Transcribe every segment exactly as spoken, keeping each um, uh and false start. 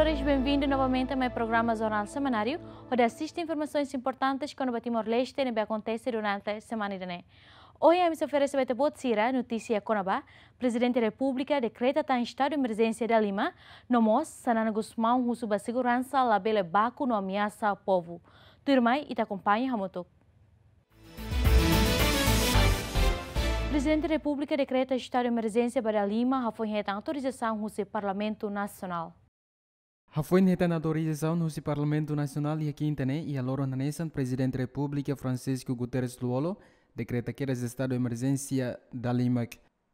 Bem-vindo novamente a mais programa Jornal Semanáriu, hodi asiste informasaun importante kona-ba Timor-Leste ne'ebé akontese durante semana ida-ne'e. Ohin ami sei oferese ba ita-boot sira notísia kona-ba Prezidente Repúblika dekreta tan estadu emerjénsia dala lima, no mós Xanana Gusmão husu ba seguransa labele baku no ameasa povu. Tuirmai ita akompaña hamutuk. Prezidente Repúblika dekreta estadu emerjénsia ba dala lima, hafoin hetan autorizasaun husi Parlamentu Nasionál. Hafoin hetan autorizasaun husi Parlamentu Nasionál iha kinta ne'e, iha loron hanesan Prezidente Repúblika Francisco Guterres Lú-Olo dekreta kedas estadu emerjénsia dala lima.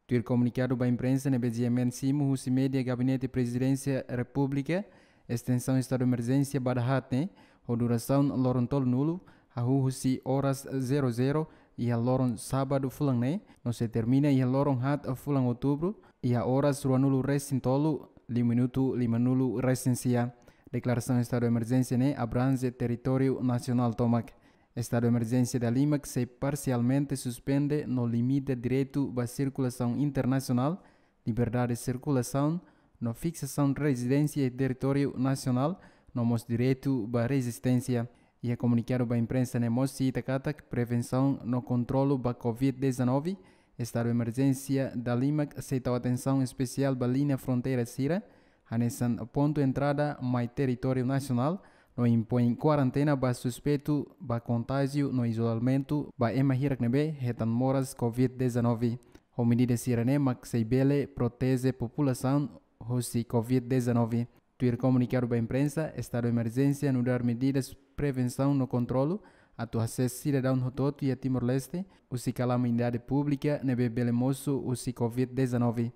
Tuir komunikadu ba imprensa ne'ebé G M N simu husi média Gabinete Prezidénsia Repúblika, estensaun estadu emerjénsia ba dahaat ne'e ho durasaun loron tolunulu, hahú husi oras zero zero iha loron sábadu fulan ne'e, no sei termina iha loron haat fulan outubru, iha oras ruanulu resin tolu, liu minutu limanulu resin sia. Deklarasaun estadu emerjénsia ne'e abrange territóriu nasionál tomak. Estadu emerjénsia dala lima sei parsialmente suspende no limita direitu ba sirkulasaun internasionál, liberdade sirkulasaun, no fiksasaun rezidénsia iha territóriu nasionál, no mós direitu ba rezisténsia. Iha komunikadu ba imprensa ne'e mós sita katak prevensaun no kontrolu ba covid dezanove, estadu emerjénsia dala lima sei tau atensaun espesiál ba liña fronteira sira, hanesan pontu entrada mai territóriu nasionál, no impoin kuarentena ba suspeitu ba kontájiu no izolamentu ba ema hirak ne'ebé hetan moras covid dezanove. Ho medida sira-ne'e mak sei bele proteje populasaun husi covid dezanove. Tuir komunikadu ba imprensa, estadu emerjénsia nu'udar medidas prevensaun no kontrolu atu hasees sidadaun hotu-hotu iha Timor-Leste husi kalaminidade públika ne'ebé bele mosu husi covid dezanove.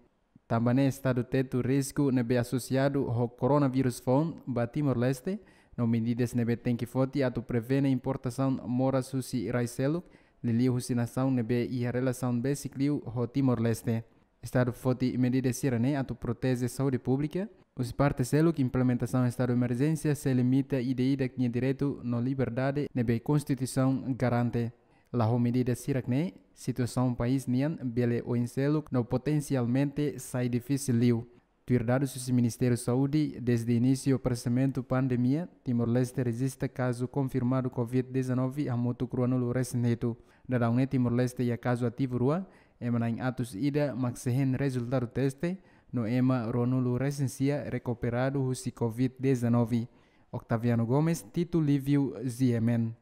Tanba ne'e estadu tetu risku ne'ebé asosiadu ho koronavírus foun ba Timor-Leste, no medidas ne'ebé tenke foti atu prevene importasaun moras husi rai seluk, liuliu husi nasaun ne'ebé iha relasaun besik liu ho Timor-Leste. Estadu foti medidas sira-ne'e atu proteje saúde públika. Husi parte seluk, implementasaun estadu emerjénsia sei limita ida-idak nia direitu no liberdade ne'ebé Konstituisaun garante. La ho medidas hirak-ne'e, situasaun país nian bele oin seluk no potensialmente sai difisil liu. Tuir dadus husi Ministériu Saúde, dezde inísiu aparesimentu pandemia, Timor-Leste rejista kazu konfirmadu covid dezanove hamutuk ruanulu resin hitu. Daudaun ne'e Timor-Leste iha kazu ativu rua, ema na'in atus ida mak sei hein rezultadu teste, no ema ruanulu resin sia rekuperadu husi covid dezanove. Octaviano Gomes, Tito Livio, G M N.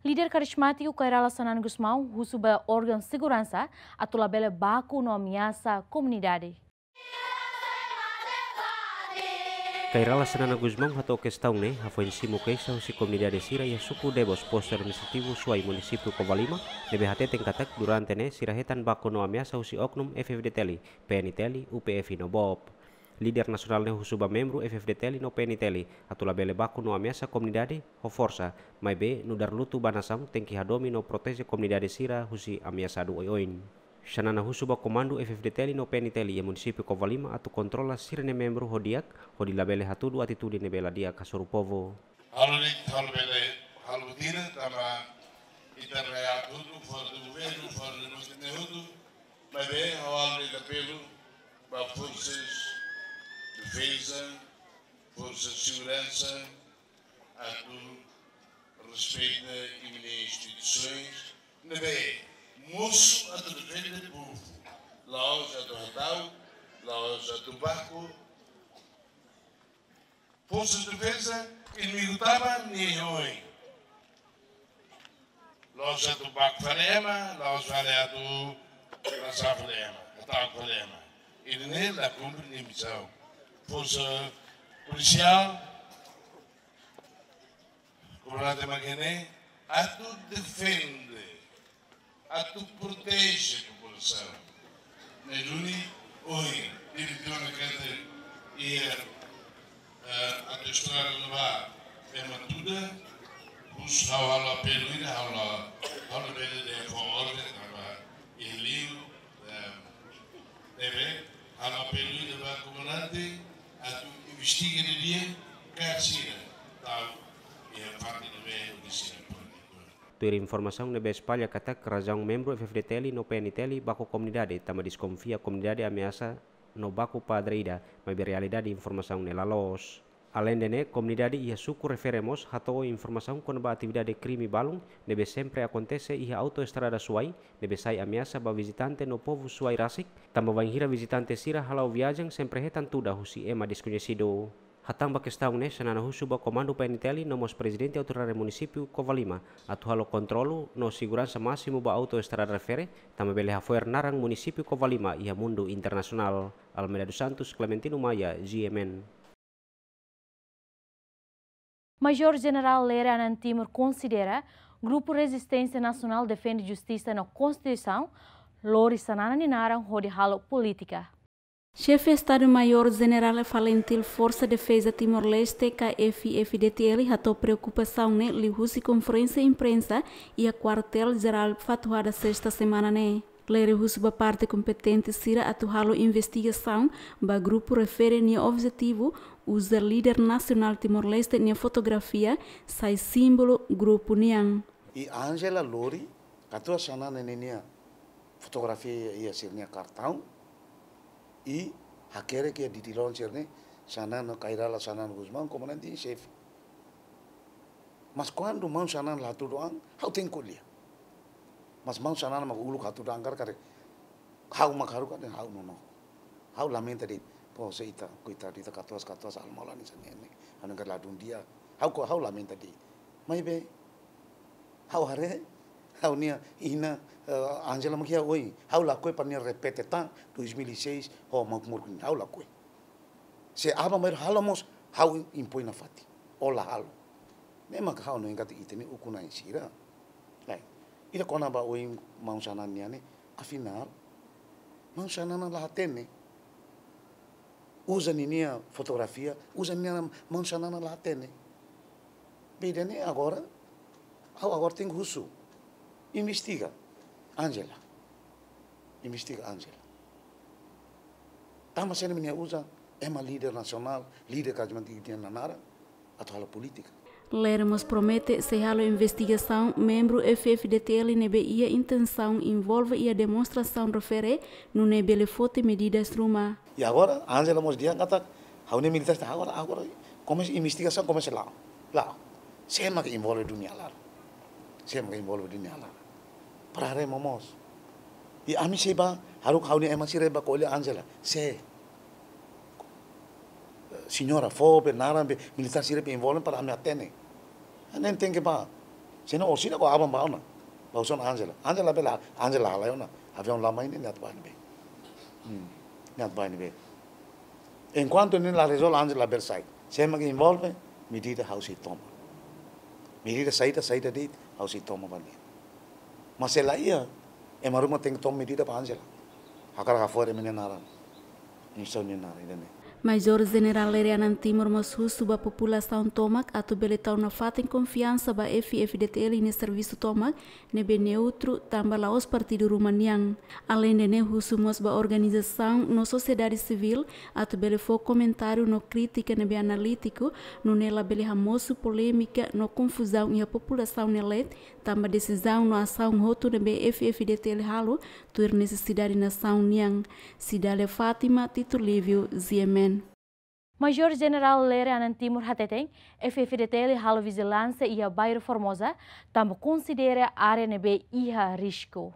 Líder karizmátiku Kay Rala Xanana Gusmão husu ba órgaun seguransa atu labele baku no ameasa komunidade. Kay Rala Xanana Gusmão hato'o kestaun ne'e hafoin simu keixa husi komunidade sira iha suku Debos, Postu Administrativu Suai, Munisípiu Covalima, ne'ebé hateten katak durante ne'e sira hetan baku no ameasa husi oknum F-FDTL, P-NTL, U P F no BOP. Líder nasionál ne'e husu ba membru F-FDTL no P-NTL atu labele baku no ameasa komunidade ho forsa, maibé nu'udar lutu ba nasaun tenke hadomi no proteje komunidade sira husi ameasadu oioin. Xanana husu ba komandu F-FDTL no P-NTL iha Munisípiu Covalima atu kontrola sira-nia membru ho di'ak, hodi labele hatudu atitude ne'ebé la di'ak hasoru povu. Halo de'it, halo bele, halo buat ida, tanba ita-nia atu fora do governu, fora do governu, maibé halo de'it apelu ba Forsas Defeza, Forsas Seguransa, atu respeita imi-nia instituisoens, ne'ebé mosu atu defende povu, la'ós atu hatau, la'ós atu baku. Forsas Defeza, inimigu tama nia iha oin. La'ós atu baku fali ema, la'ós fali atu lasa fali ema, hatau fali ema. Ida-ne'e la kumpre nia misaun. Forsa polisiál, komandante mak ne'e, atu defende, atu proteje populasaun. Ne'e duni ohin, diretór ne'ebé iha, eh, atu estrada no ba, ema tuda, husu ha'u halo apelu ida, ha'u la, ha'u labele dehan fó orden, tanba iha liur, eh, ne'ebé halo apelu ida ba komandante, atu investiga didi'ak kazu sira tau iha parte ne'ebé hodi sira pone. Tuir informasaun ne'ebé espalla katak razaun membru F-FDTL no P-NTL baku komunidade tanba deskonfia komunidade ameasa no baku padre ida, maibé realidade informasaun ne'e la loos. Aleinde ne'e, komunidade iha suku refere mós hato'o informasaun kona-ba atividade krime balun ne'ebé sempre akontese iha autoestrada Suai, ne'ebé sai ameasa ba vizitante no povu Suai rasik, tanba bainhira vizitante sira hala'o viajen sempre hetan tuda husi ema deskoñesidu. Hatán ba kestaun ne'e, Xanana husu ba Komandu P N T L no mós Prezidente Autoridade Munisípiu Covalima atu halo kontrolu no seguransa másimu ba autoestrada refere, tanba bele hafo'er naran munisípiu Covalima iha mundu internasionál. Almeida dos Santos, Clementino Maia, G M N. Major Jenerál Lere Anan Timur konsidera Grupu Rezisténsia Nasionál Defende Justisa no Konstituisaun lori Xanana nia naran hodi halo polítika. Xefe Estadu-Maiór Jenerál Falintil Forsa Defeza Timor-Leste, ka F F D T L, hato'o preokupasaun ne'e liuhusi konferénsia imprensa iha Kuartél Jerál Fatuhada, Sesta semana ne'e. Lere husu ba parte kompetente sira atu halo investigasaun ba grupu refere nia objetivu uza líder nasionál Timor-Leste nia fotografia sai símbolu grupu nian. I Angela lori katuas Xanana ninia fotografia iha sira-nia kartaun, i hakerek iha ditiloran sira-ne'e, Xanana Kay Rala, Xanana Gusmão, komandante en xefe. Mas kuandu maun Xanana la hatudu an, ha'u tenke ko'alia. Mas maun Xanana mak uluk hatudu an karik, ha'u mak haruka dehan ha'u nonook. Ha'u lamenta de'it, pose ita, koitadu ita katuas, katuas almolan isan ne'e. Ha'u nunka ladún di'ak. Ha'u ko, ha'u lamenta de'it. Maibé, ha'u haree, ha'u-nia inan, eh, Angela mak iha oin. Ha'u lakohi para nia repete tan, dois mil e seis, ho Mauk Muruk nian. Ha'u lakohi. Se aban-bainrua halo mós, ha'u impoin nafatin. Ó la halo. Ne'e mak ha'u hanoin katak ita-nia ukun-na'in sira. Lae, ita kona-ba oin maun Xanana nian ne'e, afinál, maun Xanana la hatene. Uza ninia fotografia, uza ninia maun Xanana la hatene. Beda ne'e agora, ha'u agora tenke husu. Investiga Angela. Investiga Angela. Tanba sé mak nia uza ema líder nasionál, líder karismátiku nia naran atu halo polítika. Lere mós promete sei halo investigasaun membru F F D T L ne'ebé iha intensaun envolve iha demonstrasaun refere, nune'e bele foti medidas ruma. I agora, Angela mós dehan katak, ha'u-nia militár sira agora, agora, komesa investigasaun, komesa la'o. La'o. Sé mak envolve duni alar. Sé mak envolve duni alar. Para haree momoos. I ami sei bá, haruka ha'u-nia ema sira bá ko'alia Angela. Sé. Señora, fó be naran be militár sira be envolve para ami hatene. Ne'e tenke bá. Sino orsida ko aban bá ona. Bá husu ona Angela. Angela bele, Angela halai ona. Aviaun lama ne'e, nia atu bá ne'ebé. Hmm. Nia atu bá ne'ebé. Enkuantu nia la rezolve, Angela bele sai. Sé mak envolve, medida ha'u sei toma. Medida saida, saida de'it, ha'u sei toma ba nia. Mas se la iha, ema ruma tenke toma medida ba Angela. Hakarak hafo'er ema nia naran. Instituisaun nia naran, ida-ne'e. Major Jenerál Lere Anan Timur mós husu ba populasaun tomak atu bele tau nafatin konfiansa ba F F D T L nia servisu tomak, ne'ebé neutru, tanba la'ós partidu ruma nian. Aleinde ne'e, husu mós ba organizasaun no sosiedade sivíl atu bele fó komentáriu no krítika ne'ebé analítiku, nune'e labele hamosu polémika no konfuzaun iha populasaun nia leet, tanba desizaun no asaun hotu ne'ebé F F D T L halo tuir nesesidade nasaun nian. Cidália Fátima, Tito Lívio, G M N. Major Jenerál Lere Anan Timur hateten, F F D T L halo vijilánsia iha bairru Formosa, tanba konsidera área ne'ebé iha risku.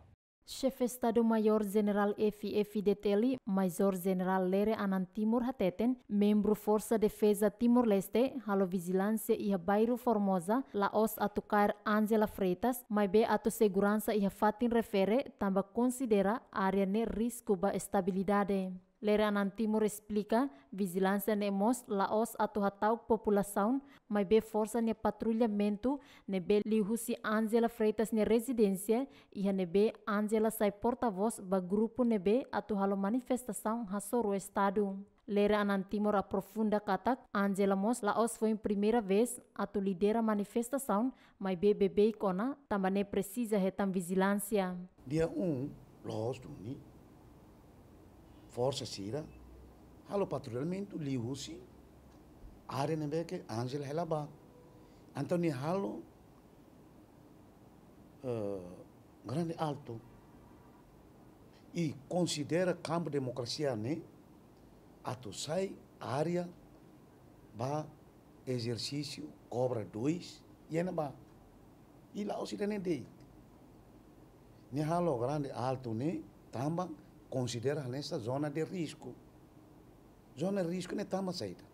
Xefe Estadu-Maiór Jenerál F F D T L, Major Jenerál Lere Anan Timur hateten, membru Forsa Defeza Timor-Leste halo vijilánsia iha bairru Formosa, la'ós atu kaer Angela Freitas, maibé atu seguransa iha fatin refere, tanba konsidera área ne'e risku ba estabilidade. Lere Anan Timur esplika, vijilánsia ne'e mós la'ós atu hata'uk populasaun, maibé forsa nia patrullamentu ne'ebé liuhusi Angela Freitas nia rezidénsia, iha ne'ebé Angela sai portavós ba grupu ne'ebé atu halo manifestasaun hasoru Estadu. Lere Anan Timur aprofunda katak, Angela mós la'ós foin primeira vez atu lidera manifestasaun, maibé beibeik ona, tanba ne'e presiza hetan vijilánsia. Dia um, loos duni, forsa sira halo patrullamentu liuhusi área ne'ebé ke Angela hela bá. Entaun nia halo, eh, grande alto. I konsidera kampu demokrasia ne'e atu sai área ba ezersísiu kobra dois iha ne'ebá. I la'ós ida-ne'e de'it. Nia halo Grande Alto ne'e tanba konsidera hanesan zona de risku. Zona de risku ne'e tanba saida?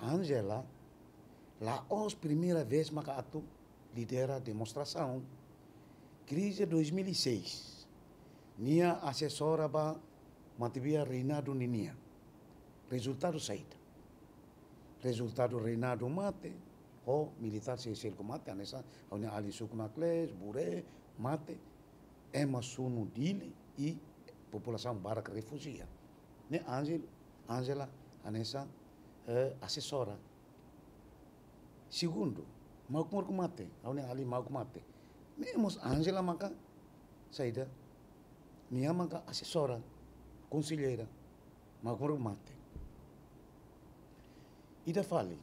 Angela, la'ós primeira vez maka atu lidera demonstrasaun. Krize dois mil e seis, nia asesora ba matebian Reinaldo ninia. Rezultadu saida? Rezultadu Reinaldo mate, ho militár sei selu ku mate, hanesan ha'u-nia alin suku Nakles, Bure, mate, ema sunu Dili i populasaun barak refújia. Ne'e Angel, Angela hanesan, eh, asesora. Segundu, Mauk Moruk mate, ha'u-nia alin Mauk mate. Ne'e mós Angela maka saida? Nia maka asesora, konselleira, Mauk Moruk mate. Ida fali,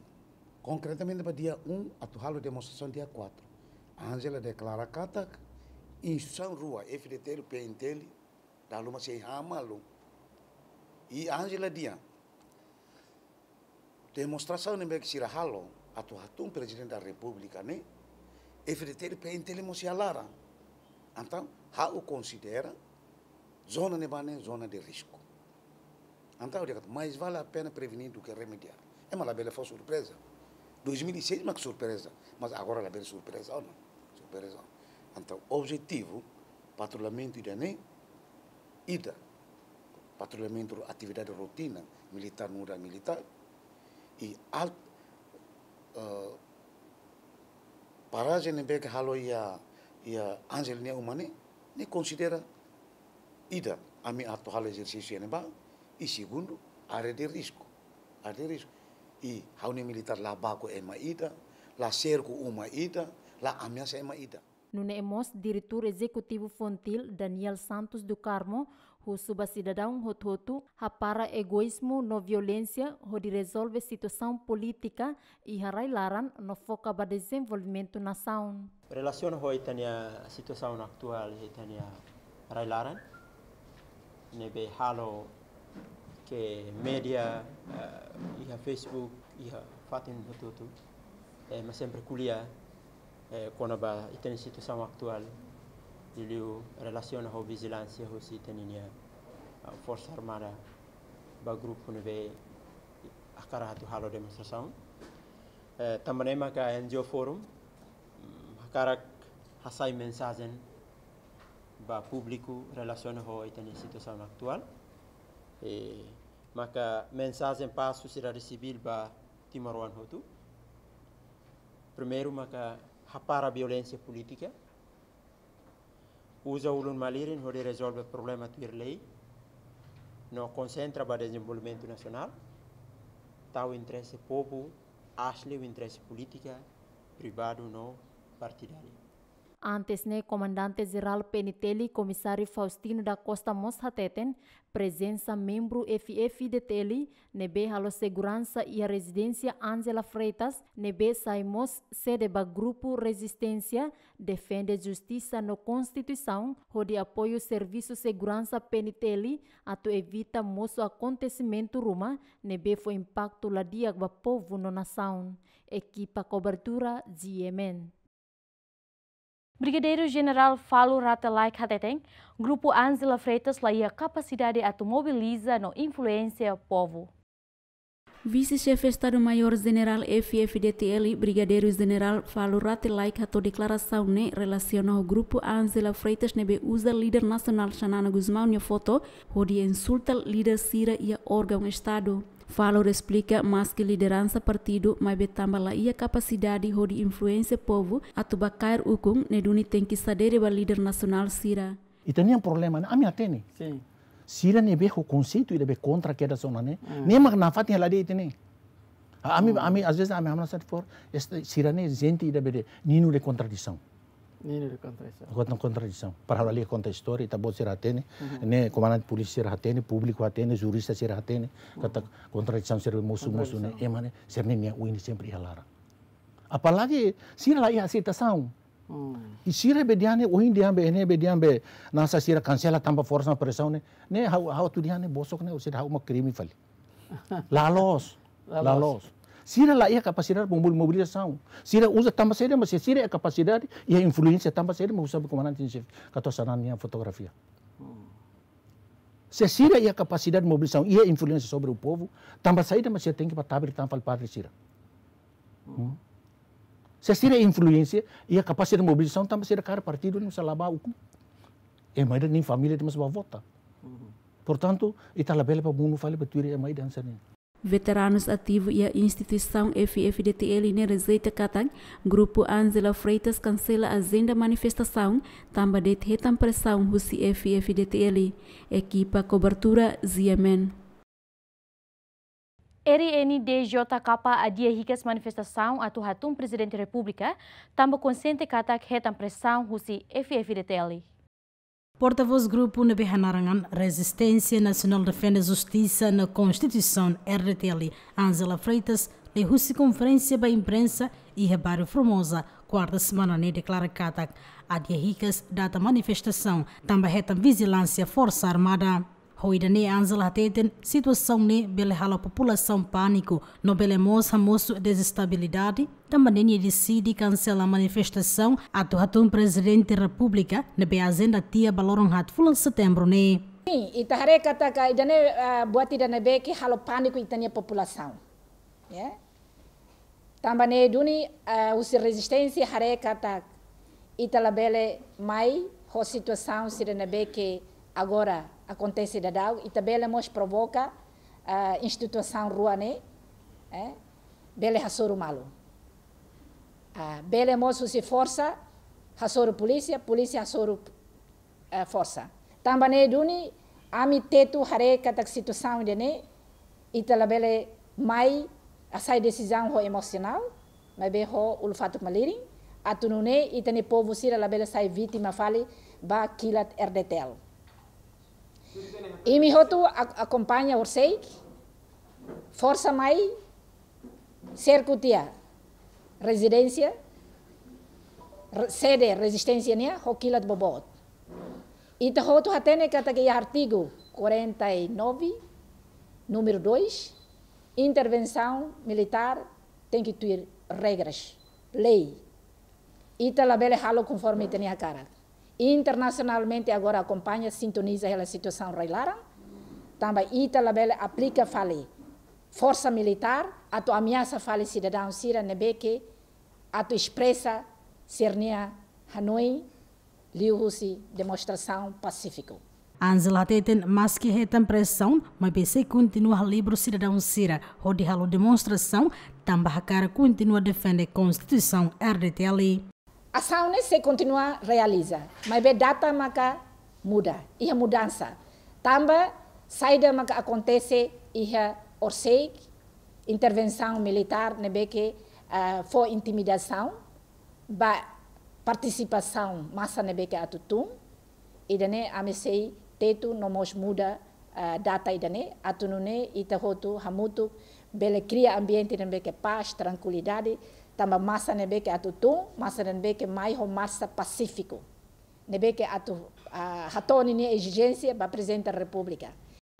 konkretamente ba dia um, atu halo demonstrasaun dia quatro. Angela deklara katak instituisaun rua, F-FDTL, P-MTL, dala ruma sei han malu. I Angela dehan, demonstrasaun ne'ebé ke sira halo atu hatún Prezidente da Repúblika ne'e, F-FDTL, P-MTL mós iha laran. Entaun, ha'u konsidera zona ne'ebá ne'e zona de risku. Entaun, dehan katak mais vale a pena prevenir do que remediar. Ema labele fó surpreza. Dois mil e seis mak surpreza, mas agora labele surpreza ona. Surpreza ona. Entaun, objetivu patrullamentu ida-ne'e, ida, patrullamentu atividade rotina militár nu'udar militár, i al, eh, parajen ne'ebé ke halo iha, iha Angela nia uma ne'e, ne'e konsidera ida, ami atu halo ezersísiu iha ne'ebá, i segundu, área de risku. Área de risku. I ha'u-nia militár la baku ema ida, la serku uma ida, la ameasa ema ida. Nune'e mós Diretór Ezekutivu FONGTIL, Daniel Santos do Carmo, husu ba sidadaun hotu-hotu hapara egoízmu no violénsia hodi rezolve situasaun polítika iha rai-laran no foka ba dezenvolvimentu nasaun. Relasiona ho ita-nia situasaun atuál iha ita-nia rai-laran, ne'ebé halo ke média, eh, iha Facebook, iha fatin hotu-hotu, eh, ema sempre ko'alia, eh, kona-ba ita-nia situasaun atuál, liuliu relasiona ho vijilánsia husi ita-nia, ah, Forsa Armada ba grupu ne'ebé hakarak atu halo demonstrasaun. Eh, tanba ne'e maka N G O Forum, mm, hakarak hasai mensajen ba públiku relasiona ho ita-nia situasaun atuál. Eh, maka mensajen ba sosiedade sivíl ba timoroan hotu. Primeiru maka hapara violénsia polítika. Uza ulun-malirin hodi rezolve problema tuir lei. No konsentra ba dezenvolvimentu nasionál. Tau interese povu, aas liu interese polítika, privadu no partidáriu. Antes ne'e, Komandante Jerál P-MTL, Komisáriu Faustino da Costa mós hateten, prezensa membru F-FDTL ne'ebé halo seguransa iha rezidénsia Angela Freitas, ne'ebé sai mós sede ba grupu rezisténsia, defende justisa no konstituisaun, hodi apoiu servisu seguransa P-MTL, atu evita mosu akontesimentu ruma ne'ebé fó impaktu la di'ak ba povu no nasaun. Ekipa kobertura, G M N. Brigadeiru Jenerál Falo Rate Laek hateten, grupu Angela Freitas la iha kapasidade atu mobiliza no influénsia povu. Vise-Xefe Estadu-Maiór Jenerál F-FDTL, Brigadeiru Jenerál Falo Rate Laek hato'o deklarasaun ne'e relasiona ho grupu Angela Freitas ne'ebé uza líder nasionál Xanana Gusmão nia foto hodi insulta líder sira iha órgaun Estadu. Falo esplika, maski lideransa partidu, maibé tanba la iha kapasidade hodi influénsia povu atu bá kaer ukun, ne'e duni tenke sadere ba líder nasionál sira. Ita-nia problema ne'e, ami hatene. Sin. Sira ne'ebé ho konseitu ida be kontra kedas ona ne'e. Mm. Ne'e mak nafatin hela de'it ne'e. Ami, mm, ami, às vezes, ami hamnasa fó, este, sira ne'e jente ida be de'it, ninu de kontradisaun. Ninu de kontradisaun. Kontra, kontradisaun. Para halo lia konta istória, ita-boot sira hatene, mhm, ne'e komandante polísia sira hatene, públiku hatene, jurista sira hatene, katak, mhm, kontradisaun sira mosu, mosu ne'e, kontradisaun, ema ne'e, sira-nia oin ne'e sempre iha laran. Apalagi sira la iha aseitasaun. Hmm. I sira be dehan ne'e, ohin dehan be, ne'e be dehan be, nasa sira kansela tanba forsa no presaun ne'e, ne'e ha'u, ha'u atu dehan ne'e, bosok ne'e, sira ha'u mak krime fali. La loos. La loos. Sira la iha kapasidade mobil-, mobilizasaun. Sira uza tanba saida, mas sira iha kapasidade, iha influénsia tanba saida, mas uza komandante em xefe, katuas-an nia fotografia. Se sira iha kapasidade mobilizasaun, iha influénsia sobre o povo, tanba saida, mas sira tenke bá tabir tan fali padre sira. Hmm? Se sira influénsia, iha kapasidade mobilizasaun, tanba sira kaer partidu, no se laba ukun. Ema ida-ne'e família de'it mós bá vota. Portantu, ita labele bá monu fali bá tuir ema ida hanesan ne'e. Veteranus ativu iha instituisaun F F D T L ne'e rejeita katak grupu Angela Freitas kansela ajenda manifestasaun tanba de'it hetan presaun husi F F D T L. Ekipa kobertura G M N. R N D J K adia hikas manifestasaun atu hatún Prezidente Repúblika, tanba konxiente katak hetan presaun husi F F D T L. Portavós grupu ne'ebé hanaran Rezisténsia Nasionál Defende Justisa no Konstituisaun, R D T L, Angela Freitas, liuhusi konferénsia ba imprensa iha Bairru Formosa, kuarta semana ne'e, deklara katak adia hikas data manifestasaun tanba hetan vijilánsia Forsa Armada. Ho ida-ne'e Angela hateten situasaun ne'e bele halo populasaun pániku, no bele mós hamosu dezestabilidade, tanba ne'e nia deside kansela manifestasaun atu hatún Prezidente Repúblika ne'ebé ajenda tiha ba loron haat fulan Setembru ne'e. Sin, ita haree katak ida-ne'e, ah, buat ida ne'ebé ke halo pániku ita-nia populasaun. Ya. Tanba ne'e duni, ah, husi rezisténsia haree katak ita labele mai ho situasaun sira ne'ebé ke agora akontese daudaun, ita bele mós provoka, ah, instituisaun rua ne'e, eh, bele hasoru malu. Ah, bele mós husi forsa hasoru polísia, polísia hasoru, eh, forsa. Tanba ne'e duni, ami tetu haree katak situasaun ida-ne'e, ita labele mai hasai desizaun ho emosionál, maibé ho ulun-fatuk malirin, atu nune'e ita-nia povu sira labele sai vítima fali ba kilat R D T L. Imi hotu ak-, akompaña horiseik, forsa mai, serku tiha rezidénsia, re-, sede rezisténsia nian, ho kilat boboot. Ita hotu hatene katak iha artigu quarenta e nove, númeru dois, intervensaun militár tenke tuir regras, lei. Ita labele halo konforme ita-nia hakarak. Internasionalmente agora akompaña, sintoniza hela situasaun rai-laran, tanba ita labele aplika fali forsa militár atu ameasa fali sidadaun sira ne'ebé ke atu espresa sira-nia hanoin liuhusi demonstrasaun pasífiku. Angela hateten maski hetan presaun, maibé sei kontinua halibur sidadaun sira hodi halo demonstrasaun, tanba hakarak kontinua defende Konstituisaun R D T L. Asaun ne'e sei kontinua realiza, maibé data maka muda, iha mudansa. Tanba saida maka akontese iha horiseik, intervensaun militár ne'ebé ke, ah, fó intimidasaun ba partisipasaun masa ne'ebé ke atu tun, ida-ne'e ami sei tetu no mós muda, ah, data ida-ne'e, atu nune'e ita hotu hamutuk bele kria ambiente ne'ebé ke pás, trankuilidade, tanba masa ne'ebé ke atu tun, masa ne'ebé ke mai ho marsa pasífiku. Ne'ebé ke atu, ah, hato'o ninia ezijénsia ba Prezidente Repúblika.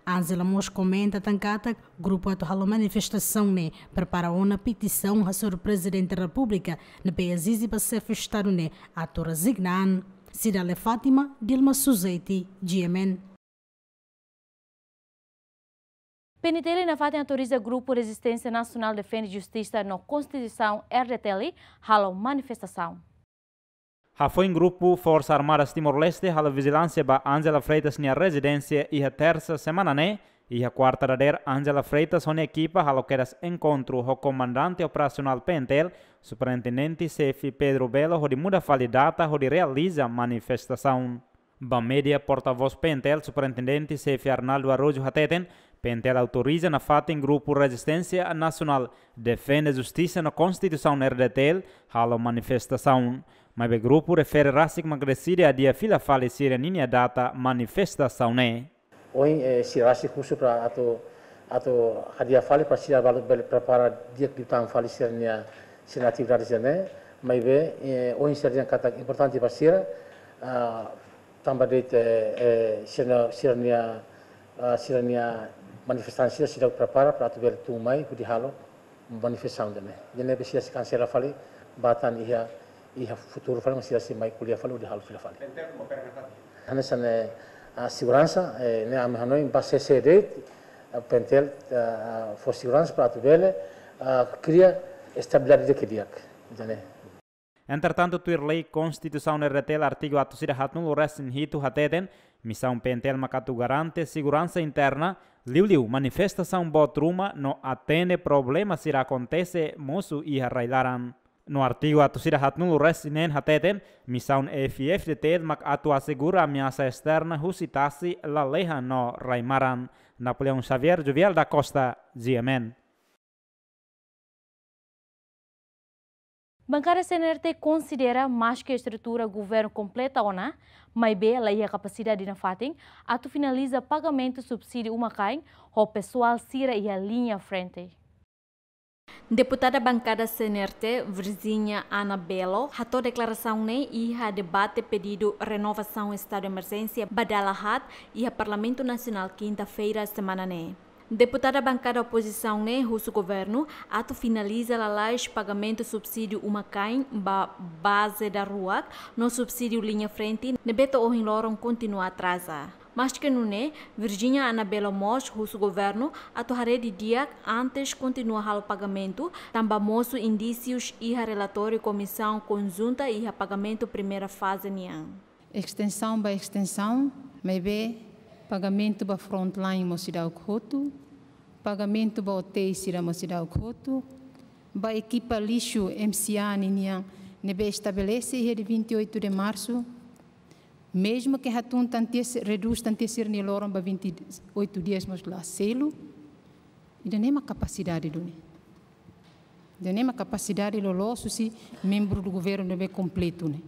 Angela mós komenta tan katak grupu atu halo manifestasaun ne'e prepara ona petisaun hasoru Prezidente Repúblika ne'ebé ezije ba Xefe Estadu ne'e atu rezigna an. Cidália Fátima, Dilma Suzeti, G M N. P N T L nafatin autoriza Grupu Rezisténsia Nasionál Defende Justisa no Konstituisaun, R D T L, halo manifestasaun. Hafoin grupu Forsa Armadas Timor-Leste halo vijilánsia ba Angela Freitas nia rezidénsia iha Tersa semana ne'e, iha Kuarta dadeer Angela Freitas ho nia ekipa halo kedas enkontru ho Komandante Operasionál P N T L, Superintendente Xefe Pedro Belo hodi muda fali data hodi realiza manifestasaun. Ba média, portavós P N T L, Superintendente Xefe Arnaldo Araújo hateten, P N T L autoriza nafatin Grupu Rezisténsia Nasionál Defende Justisa no Konstituisaun, R D T L, halo manifestasaun. Maibé grupu refere rasik mak deside adia fila fali sira ninia data manifestasaun ne'e. Ohin, eh, sira rasik husu para atu, atu adia fali para sira balu bele prepara di'ak liután fali sira-nia, sira-nia atividade sira-ne'e. Maibé, eh, ohin sira dehan katak importante ba sira, ah, tanba de'it, eh, eh, sira-nia, sira-nia, ah, sira-nia Manifestante sira seidauk prepara para atu bele tun mai hodi halo manifestasaun ida-ne'e. Ida-ne'e be sira sei kansela fali, ba tan iha, iha futuru fali, mas sira sei mai ko'alia fali hodi halo fila fali. Hanesan ne'e, ah, seguransa, eh, ne'e ami hanoin ba C C D, ah, PNTL, ah, fó seguransa para atu bele, ah, kria estabilidade di'ak. Ida-ne'e. Entretantu, tuir lei Konstituisaun R D T L artigu atus ida haatnulu resin hitu hateten, misaun PNTL mak atu garante seguransa interna, liuliu manifestasaun boot ruma no atende problema sira akontese mosu iha rai-laran. No artigu atus ida haatnulu resin neen hateten, misaun F-FDTL mak atu asegura ameasa esterna husi tasi, lalehan no rai-maran. Napoleão Xavier, Jovial da Costa, G M N. Bankada C N R T konsidera maske estrutura governu kompleta ona, maibé la iha kapasidade nafatin atu finaliza pagamentu subsídiu uma-kain ho pesoál sira iha liña frente. Deputada bankada C N R T, Virginia Ana Belo, hato'o deklarasaun ne'e iha debate pedidu renovasaun estadu emerjénsia ba dala haat iha Parlamentu Nasionál kinta-feira semana ne'e. Deputada bankada opozisaun ne'e husu governu atu finaliza lalais pagamentu subsídiu uma-kain ba baze daruak no subsídiu liña frente ne'ebé to'o ohin loron kontinua atraza. Maske nune'e, Virginia Ana Belo mós husu governu atu haree didi'ak antes kontinua halo pagamentu, tanba mosu indísius iha relatóriu Komisaun Konjunta iha pagamentu primeira faze nian. Estensaun ba estensaun, maibé pagamentu ba frontline mós seidauk hotu, pagamentu ba hotéis sira mós seidauk hotu, ba ekipa lixu M C A ninian ne'ebé estabelese iha dia vinte e oito de março, mesmu ke hatun tan tiha si-, redús tan tiha sira-nia loron ba vinte e oito dias mós la selu, ida-ne'e mak kapasidade duni. Ida-ne'e mak kapasidade loloos husi membru do governu ne'ebé kompletu ne'e.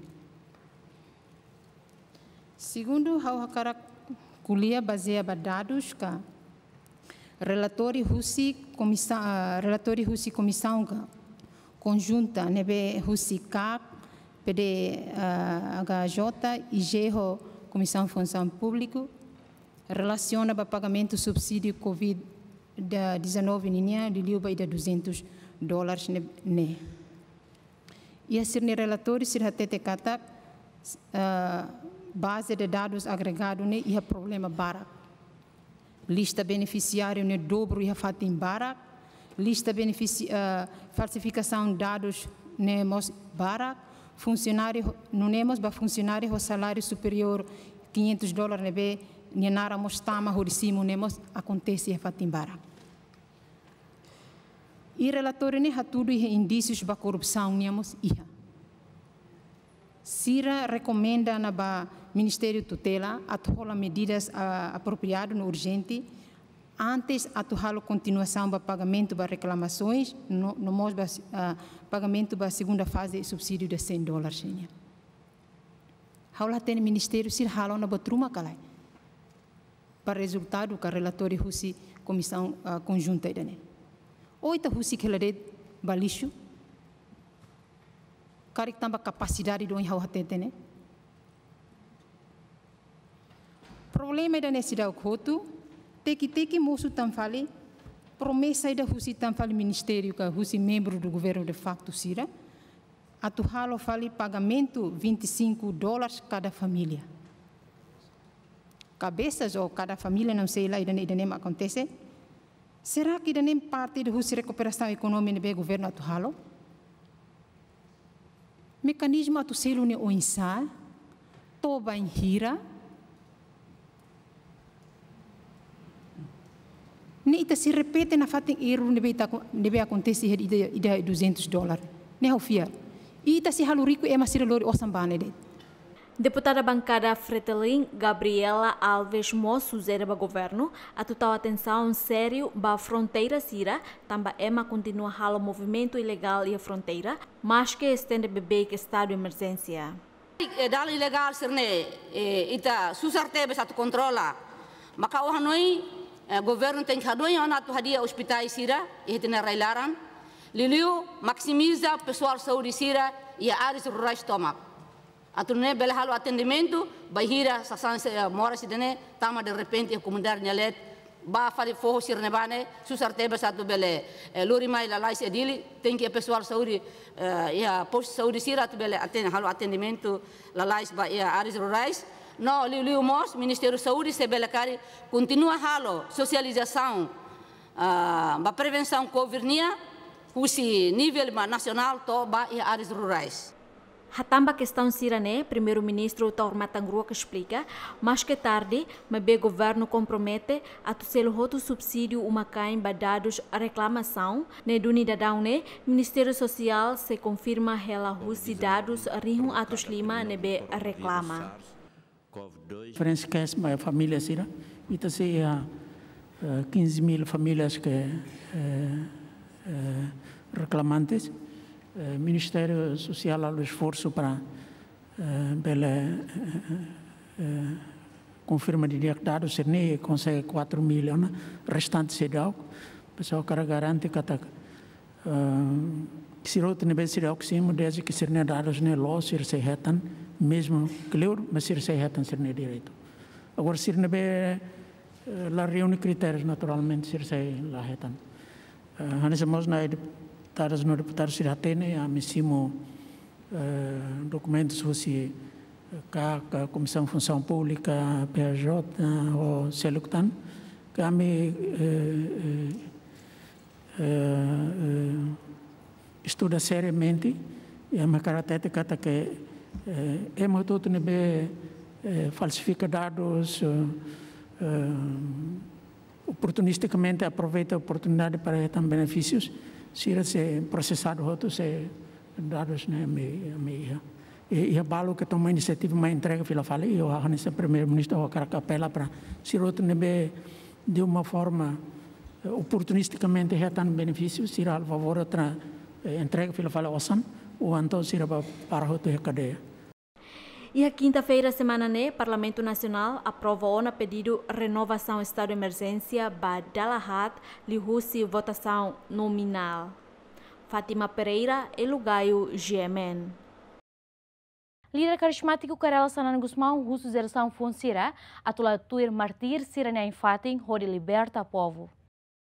Segundu, ha'u hakarak ko'alia bazeia ba dadus ka relatóriu husi komisa-, ah, relatóriu husi komisaun ka konjunta ne'ebé husi CAC, P D, ah, H J, I G ho Komisaun Funsaun Públiku, relasiona ba pagamentu subsídiu covid dezanove ninian, liuliu ba ida duzentos dólares ne'e, ne'e. Iha sira-nia relatóriu sira hatete katak, eh, baze de dadus agregadu ne'e iha problema barak. Lista benefisiáriu ne'e dobru iha fatin barak. Lista benefisi-, eh, falsifikasaun dadus ne'e mós barak. Funsionáriu ho-, nune'e mós ba funsionáriu ho saláriu superiór quinhentos dólares ne'ebé nia naran mós tama hodi simu ne'e mós akontese iha fatin barak. I relatóriu ne'e hatudu iha indísius ba korrupsaun nian mós iha. Sira rekomenda ona ba Ministériu Tutela atu hola medidas, ah, apropriadu no urjente antes atu halo kontinuasaun ba pagamentu ba reklamasoens no, no mós ba, ah, pagamentu ba segunda faze subsídiu de cem dólares nian. Ha'u la hatene ministériu sira halo ona buat ruma ka lae. Ba rezultadu ka relatóriu husi komisaun, ah, konjunta ida-ne'e. Ou ita husik hela de'it ba lixu. Karik tanba kapasidade duni ha'u hatete ne'e. Problema ida-ne'e seidauk hotu, teki-teki mosu tan fali, promesa ida husi tan fali ministériu ka husi membru do governo de facto sira, atu halo fali pagamentu vinte e cinco dólares kada família. Cabeças ou cada família, não sei lá, ida-ne'e, ida-ne'e mak akontese. Será que ida-ne'e parte de husi rekuperasaun ekonomia ne'ebé governu atu halo? Mekanizmu atu selu ne'e oinsá, to'o bainhira. Ne'e ita sei repete nafatin erru ne'ebé ita ko-, ne'ebé akontese iha ida, ida duzentos dólar. Ne'e ha'u fiar. I ita sei halo riku ema sira lori osan ba ne'e de'it. Deputada bankada Fretilin, Gabriela Alves mós sujere ba governu atu tau atensaun sériu ba fronteira sira, tanba ema kontinua halo movimentu ilegál iha fronteira, maske estende beibeik estadu emerjénsia. Eh, dalan ilegál sira-ne'e, eh, ita susar tebes atu kontrola. Maka ha'u hanoin, eh, governu tenke hadomi ona atu hadi'a ospitais sira iha ita-nia rai-laran. Liuliu maksimiza pesoál saúde sira iha áreas rurais tomak. Atu nune'e bele halo atendimentu bainhira sasán se-, eh, moras ida-ne'e tama derrepente iha komunidade nia leet, Ba fali foho sira-ne'ebá ne'e, susar tebes atu bele, eh, lori mai lalais iha Dili, tenke pesoál saúde, eh, iha postu saúde sira atu bele aten-, halo atendimentu lalais ba iha áreas rurais. No liuliu mós, Ministériu Saúde se bele karik kontinua halo sosializasaun, ah, ba prevensaun covid nian, husi nivel ba nasionál to'o ba iha áreas rurais. Hatán ba kestaun sira-ne'e, Primeiru-Ministru Taur Matan Ruak esplika, maske tarde, maibé governu kompromete atu selu hotu subsídiu uma-kain ba dadus reklamasaun, ne'e duni daudaun ne'e, Ministériu Sosiál sei konfirma hela husi dadus rihun atus lima ne'ebé reklama. Diferensa ke es ba família sira, ita sei iha, eh, quinze mil famílias ke, eh, eh, reklamantes. Eh, Ministériu Sosiál halo esforsu para, eh, bele, eh, eh, konfirma didi'ak dadus sira-ne'e, konsege quatro mil ona, restante seidauk. Pesoál hakarak garante katak, eh, sira hotu ne'ebé seidauk simu, desde ke sira-nia dadus ne'e loos, sira sei hetan, mezmu kleur, mas sira sei hetan sira-nia direitu. Agora, sira ne'ebé, eh, la reúne kritérius, naturalmente, sira sei la hetan. Eh, hanesan mós ne'e deputadus no deputadu sira hatene, ami simu, eh, dokumentus husi, eh, KAK, Komisaun Funsaun Públika, P J, eh, ho seluk tan, ke ami, eh, eh, eh, eh, estuda seriamente, i ami hakarak hatete katak, eh, ema hotu-hotu ne'ebé, eh, falsifika dadus, eh, eh, oportunistikamente aproveita oportunidade para hetan benefísius, sira sei prosesadu hotu, sei dadus ne'e ami, ami iha. I, iha balu ke toma inisiativa mai entrega fila fali, i ha'u hanesan Primeiru-Ministru ha'u hakarak apela para sira hotu ne'ebé de uma forma, eh, oportunistikamente hetan benefísiu, sira halo favór atu, eh, entrega fila fali osan, ou entaun sira bá para hotu iha kadeia. Iha kinta-feira semana ne'e, Parlamentu Nasionál aprova ona pedidu renovasaun estadu de emerjénsia ba dala haat liuhusi votasaun nominál. Fátima Pereira, Elo Gaio, G M N. Líder karizmátiku Kay Rala Xanana Gusmão husu jerasaun foun sira atu la tuir mártir sira-nia ain-fatin hodi liberta povu.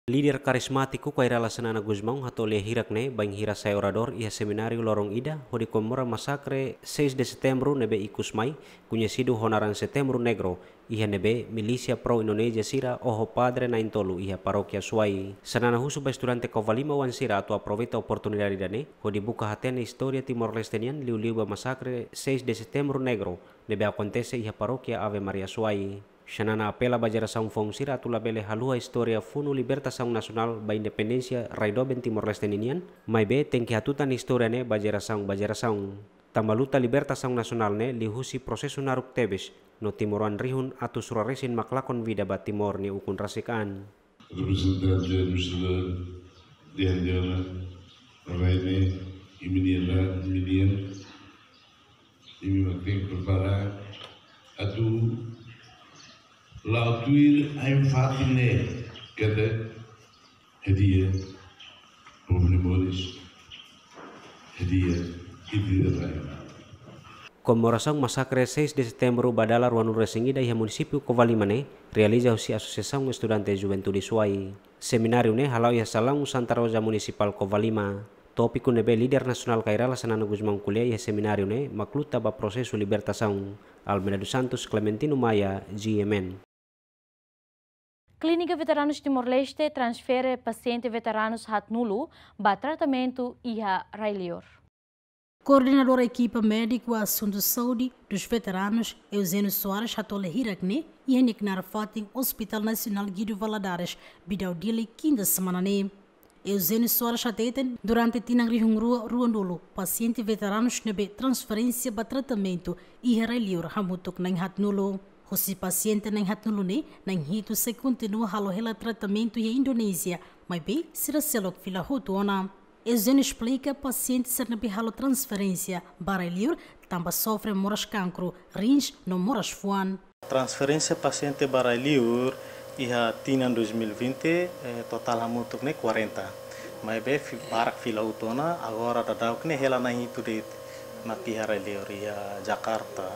Líder karizmátiku Kay Rala Xanana Gusmão hato'o lia hirak ne'e bainhira sai oradór iha semináriu loron ida hodi komemora masakre seis de Setembru ne'ebé ikus mai, koñesidu ho naran Setembru Negro, iha ne'ebé milísia pro-Indonézia sira oho padre na'in-tolu iha parókia Suai. Xanana husu ba estudante Covalima oan sira atu aproveita oportunidade ida-ne'e hodi buka hatene istória Timor-Leste nian, liuliu ba masakre seis de Setembru Negro ne'ebé akontese iha parókia Ave Maria Suai. Xanana apela ba jerasaun foun sira atu labele haluha istória funu libertasaun nasionál ba independénsia rai doben Timor-Leste ninian, maibé tenke hatutan istória ne'e ba jerasaun ba jerasaun. Tanba luta libertasaun nasionál ne'e liuhusi prosesu naruk tebes, no timoroan rihun atus rua resin mak lakon vida ba Timor nia ukun rasik an. Reprezentante do Senhor Diandiona, Reine, i menina, menina, i mi makin prepara atu la tuir ain-fatin ne'e, kete, hadi'a, povu nia moris, hadi'a, hadi'a rai. Komemorasaun masakre seis de Setembru ba dala ruanulu resin ida iha munisípiu Covalima ne'e realiza husi Asosiasaun Estudante Juventude Suai. Semináriu ne'e hala'o iha salaun Santa Rosa Munisipál Covalima. Tópiku ne'ebé líder nasionál Kay Rala Xanana Gusmão ko'alia iha semináriu ne'e mak luta ba prosesu libertasaun. Almeida dos Santos, Clementino Maia, G M N. Klínika Veteranus Timor-Leste transfere pasiente veteranus haatnulu ba tratamentu iha rai-liur. Koordenadora Ekipa Médiku Asuntu Saúde dos Veteranus, Eugênio Soares, hato'o lia hirak ne'e iha nia knaar fatin Hospital Nasionál Guido Valadares, Bidau, Dili, kinta semana ne'e. Eugênio Soares hateten, durante tinan rihun rua ruanulu, pasiente veteranus ne'ebé transferénsia ba tratamentu iha rai-liur hamutuk na'in haatnulu. Husi pasiente na'in haatnulu ne'e, na'in hitu sei kontinua halo hela tratamentu iha Indonézia, maibé sira seluk fila hotu ona. Eugênio esplika, pasiente sira ne'ebé halo transferénsia ba rai-liur tanba sofre moras kankru rins no moras fuan. Transferénsia pasiente ba rai-liur iha tinan dois mil e vinte, eh, totál hamutuk ne'e quarenta. Maibé fi-, barak fila hotu ona, agora daudauk ne'e hela na'in hitu de'it mak iha rai-liur iha Jakarta,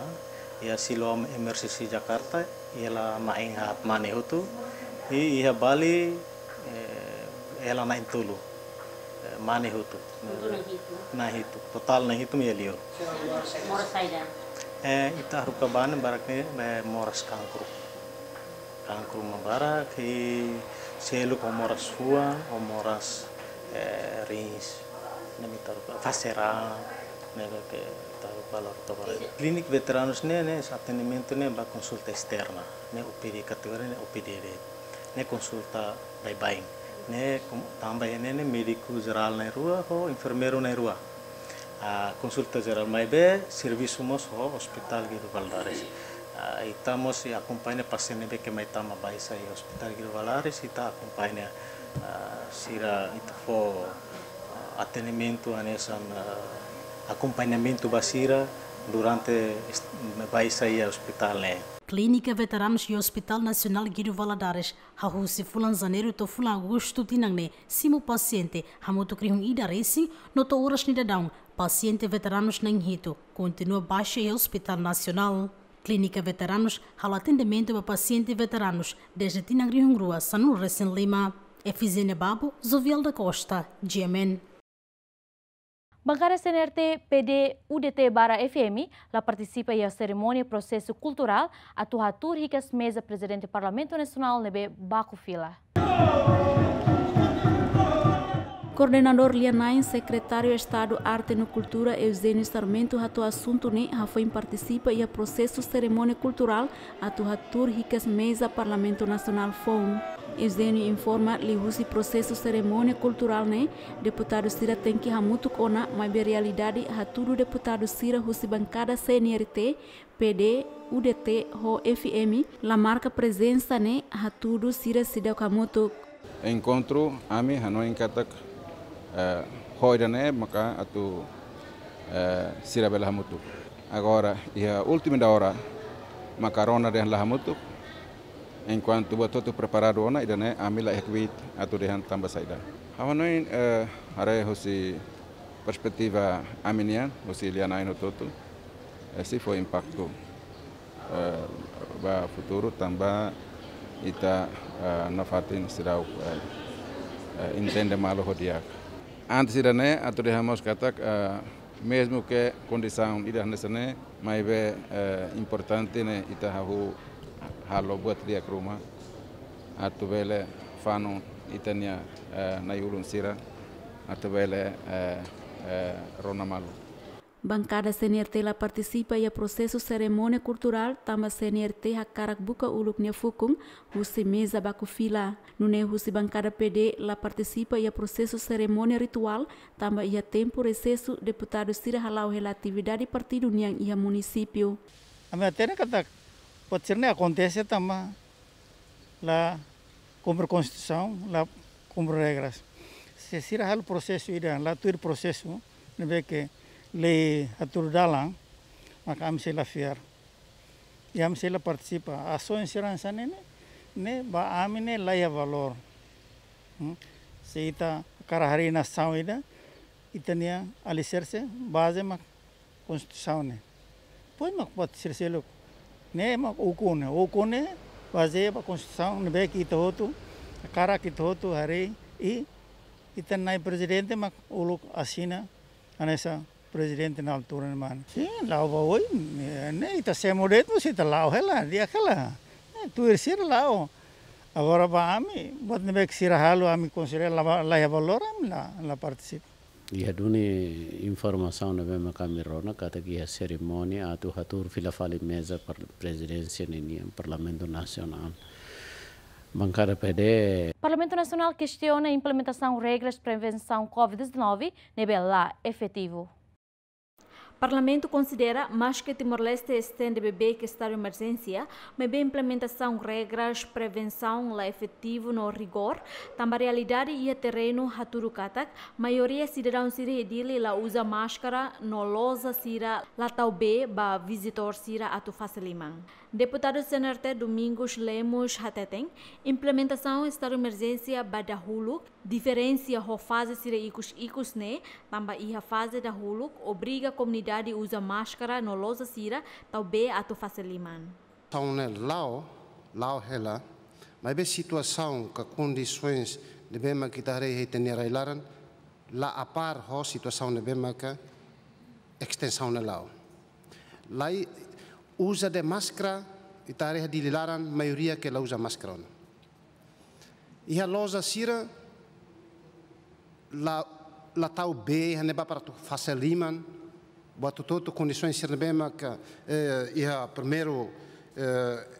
iha Siloam Emergency Jakarta, hela na'in haat mane hotu, I iha Bali, eh, hela na'in-tolu, eh, mane hotu. Hotu na'in-hitu. Na'in-hitu. Totál na'in-hitu mak iha liur. Moras saida? Eh, ita haruka ba ne'e barak ne'e, eh, moras kankru. Kankru mak barak, i seluk ho moras fuan, ho moras, eh, rins. Ne'e mak ita haruka, fase raan, ne'ebé ke ita haruka lorto barak. Klínika veteranus ne'e, ne'e, atendimentu ne'e ba konsulta esterna, ne'e O P D kategoria, ne'e O P D de'it. Ne'e konsulta baibain. Ne'e kom-, tanba iha ne'e, ne'e médiku jerál na'in-rua, ho enfermeiru na'in-rua. Ah, konsulta jerál maibé servisu mós ho Hospital Guido Valadares. Ah, ita mós sei akompaña pasiente ne'ebé ke mai tama baixa iha Hospital Guido Valadares, ita akompaña, ah, sira ita fó, ah, atendimentu hanesan, ah, akompañamentu ba sira durante est-, baixa iha ospitál ne'e. Klínika Veteranus iha Hospital Nasionál Guido Valadares hahú husi fulan Janeiru to'o fulan Agostu tinan ne'e simu pasiente hamutuk rihun ida resin, no to'o oras ne'e daudaun pasiente veteranus na'in-hitu kontinua baixa iha Hospital Nasionál. Klínika Veteranus halo atendimentu ba pasiente veteranus dezde tinan rihun rua sanulu resin lima. Efizénia Babo, Jovial da Costa, G M N. Bankada C N R T, P D, U D T barra F M la partisipa iha serimónia prosesu kulturál atu hatuur hikas meza Prezidente Parlamentu Nasionál ne'ebé baku fila. Koordenadór lia-na'in, Sekretáriu Estadu Arte no Kultura, Eugênio Sarmento, hato'o asuntu ne'e hafoin partisipa iha prosesu serimónia kulturál atu hatuur hikas meza Parlamentu Nasionál foun. Eugênio informa, liuhusi prosesu serimónia kulturál ne'e, deputadu sira tenke hamutuk ona, maibé realidade hatudu deputadu sira husi bankada C N R T, P D, U D T ho F M la marka prezensa ne'e hatudu sira seidauk hamutuk. Enkontru, ami hanoin katak, eh, ho ida-ne'e maka atu, eh, sira bele hamutuk. Agora, iha última da hora, maka rona dehan la hamutuk. Enkuantu buat hotu preparadu ona, ida-ne'e ami la iha kbiit atu dehan tanba saida. Ha'u hanoin, eh, haree husi perspetiva ami-nian, husi lia-na'in hotu-hotu, eh, sei fó impaktu, eh, ba futuru tanba ita, eh, nafatin seidauk, eh, eh, entende malu ho di'ak. Antes ida-ne'e, atu dehan mós katak, eh, mezmu ke kondisaun ida hanesan ne'e, maibé, eh, importante ne'e ita hahú halo buat di'ak ruma atu bele fanun ita-nia, eh, na'i-ulun sira atu bele, eh, eh, rona malu. Bankada C N R T la partisipa iha prosesu serimónia kulturál tanba C N R T hakarak buka uluk nia fukun husi meza baku fila. Nune'e husi bankada P D la partisipa iha prosesu serimónia rituál tanba iha tempu resesu deputadu sira hala'o hela atividade partidu nian iha munisípiu. Ami hatene katak buat sira-ne'e akontese tanba la kumpre konstituisaun, la kumpre regras. Se sira halo prosesu ida, la tuir prosesu ne'ebé ke lei hatudu dalan, maka ami sei la fiar. I ami sei la partisipa. Asaun sira hanesan ne'e, ne'e ba ami ne'e la iha valór. Hmm? Se ita hakarak harii nasaun ida, ita-nia aliserse, baze mak konstituisaun ne'e. Depois mak buat sira seluk. Ne'e mak ukun ne'e. Ukun ne'e bazeia ba konstituisaun ne'ebé ke ita hotu, hakarak ita hotu harii, i ita-nia prezidente mak uluk asina hanesan prezidente na altura ne'e mane. Sin, la'o ba oin, ne'e, ne'e ita semo de'it mós ita la'o hela, di'ak hela. Ne'e, tuir sira la'o. Agora ba ami, buat ne'ebé ke sira halo, ami konsidera la, la iha valór, ami la, la partisipa. Iha duni informasaun ne'ebé mak ami rona katak iha serimónia atu hatuur fila fali meza par-, prezidénsia ninian Parlamentu Nasionál. Bankada P D. Parlamentu Nasionál kestiona implementasaun regras prevensaun covid dezanove ne'ebé la efetivu. Parlamentu konsidera, maske Timor-Leste estende bebeik estadu emerjénsia, maibé implementasaun regras prevensaun la efetivu no rigór, tanba realidade iha terrenu hatudu katak maioria sidadaun sira iha Dili la uza máskara no loja sira la tau bee ba vizitór sira atu fase liman. Deputadu C N R T Domingos Lemos hateten, implementasaun estadu emerjénsia ba dahuluk, diferensia ho faze sira ikus-ikus ne'e, tanba iha faze dahuluk obriga komunidade uza máskara no loja sira tau bee atu fase liman. Taun ne'e la'o, la'o hela, Maibé situasaun ka kondisoens ne'ebé mak ita haree iha ita-nia rai-laran la apár ho situasaun ne'ebé mak estensaun ne'e la'o. Lai uza de máskara, ita haree iha Dili laran maioria ke la uza máskara ona. Iha loja sira la, la tau bee iha ne'ebá para atu fase liman, buat hotu-hotu kondisoens sira ne'ebé mak, eh, iha primeiru, eh,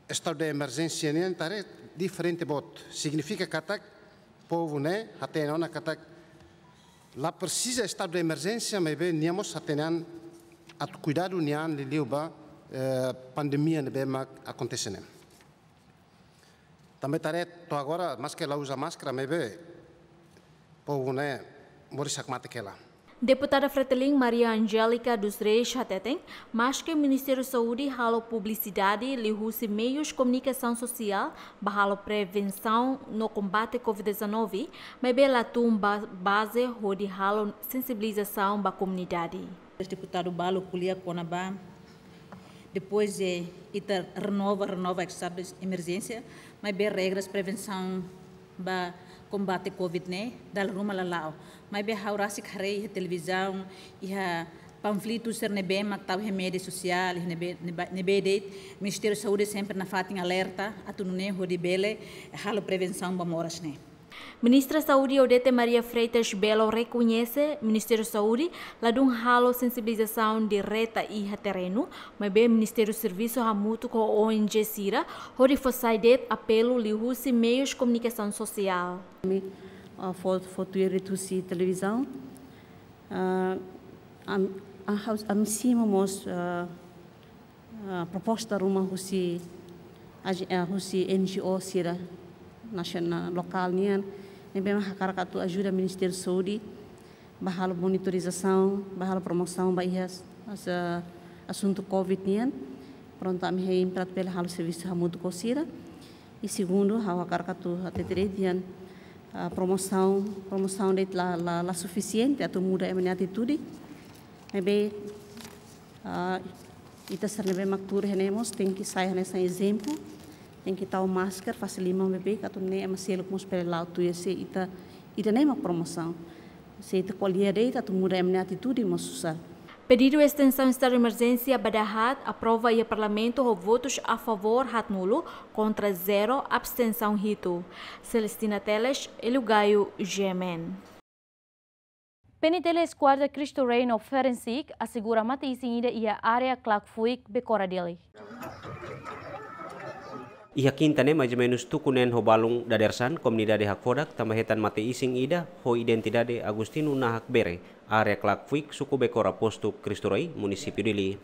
estadu de emerjénsia nian ita haree diferente boot. Signifika katak povu ne'e hatene ona katak la presiza estadu de emerjénsia, maibé nia mós hatene an atu kuidadu nia an liuliu ba, eh, pandemia ne'ebé mak akontese ne'e. Tanba ita haree to'o agora, maske la uza máskara, maibé povu ne'e moris hakmatek hela. Deputada Fretilin Maria Angélica dos Reis hateten, maske Ministériu Saúde halo publisidade liuhusi meius komunikasaun sosiál ba halo prevensaun no kombate covid dezanove, maibé la tun ba baze hodi halo sensibilizasaun ba komunidade. Deputadu balu ko'alia kona-ba depois de ita renova, renova estadu de emerjénsia, maibé regras prevensaun ba kombate covid ne'e dala ruma la la'o. Maibé ha'u rasik haree iha televizaun, iha panfletu sira ne'ebé mak tau iha média sosiál, iha ne'ebé, ne'ebá, ne'ebé de'it, Ministériu Saúde sempre nafatin alerta atu nune'e hodi bele halo prevensaun ba moras ne'e. Ministra Saúde Odete Maria Freitas Belo rekoñese Ministériu Saúde ladún halo sensibilizasaun direta iha terrenu, maibé Ministériu servisu hamutuk ho O N G sira hodi fó sai de'it apelu liuhusi meius komunikasaun sosiál. Ami, ah, fó, fó tuir de'it husi televizaun. Ah, am-, ah, haus-, ami simu mós, ah, ah, proposta ruma husi, ah, husi N G O sira nasionál, lokál nian, ne'ebé mak hakarak atu ajuda Ministériu Saúde ba halo monitorizasaun, ba halo promosaun ba iha as-, as-, asuntu covid nian. Prontu, ami hein para atu bele halo servisu hamutuk ho sira. I segundu, ha'u hakarak atu hatete de'it dehan, ah, promosaun, promosaun de'it la, la, la sufisiente atu muda ema nia atitude. Maibé, ah, ita sira ne'ebé mak tuur iha ne'e mós tenke sai hanesan ezemplu, tenke tau máskara, fase liman beibeik, atu nune'e ema seluk mós bele la'o tuir, se ita, ita-nia mak promosaun. Se ita ko'alia de'it atu muda ema nia atitude mós susar. Pedidu estensaun estadu de emerjénsia ba dahaat aprova iha Parlamentu ho votus a favór haatnulu, kontra zero, abstensaun hitu. Celestina Teles, Elio Gaio, G M N. P N T L Eskuadra Cristo Rei no Forensic asegura mate-isin ida iha área Klakfuik, Becora, Dili. Iha kinta ne'e, maizumenus tuku neen ho balun dadeer-saan, komunidade hakfodak tanba hetan mate-isin ida ho identidade Agostinho Nahak Bere, área Klakfuik, suku Becora, postu Cristo Rei, munisípiu Dili.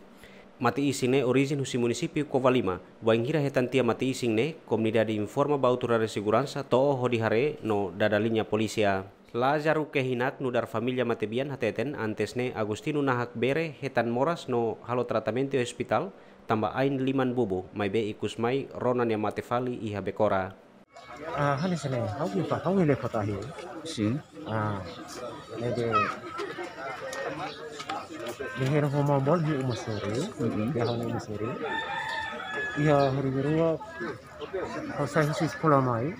Mate-isin ne'e orijen husi munisípiu Covalima. Bainhira hetan tiha mate-isin ne'e, komunidade informa ba autoridade seguransa to'o hodi haree no dada liña polísia. Lázaro Kehinak, nu'udar família matebian, hateten antes ne'e Agostinho Nahak Bere hetan moras no halo tratamentu iha ospitál tanba ain liman bubu, maibé ikus mai rona nia mate fali iha Becora. Ah, hanesan ne'e, ha'u kifa, ha'u ne'e fatahi. Sin. Ah, ne'ebé, ne'e hera ho maun-boot iha uma sore, Mm-mm. iha uma sore. Iha hari kedua, ha'u sai husi eskola mai.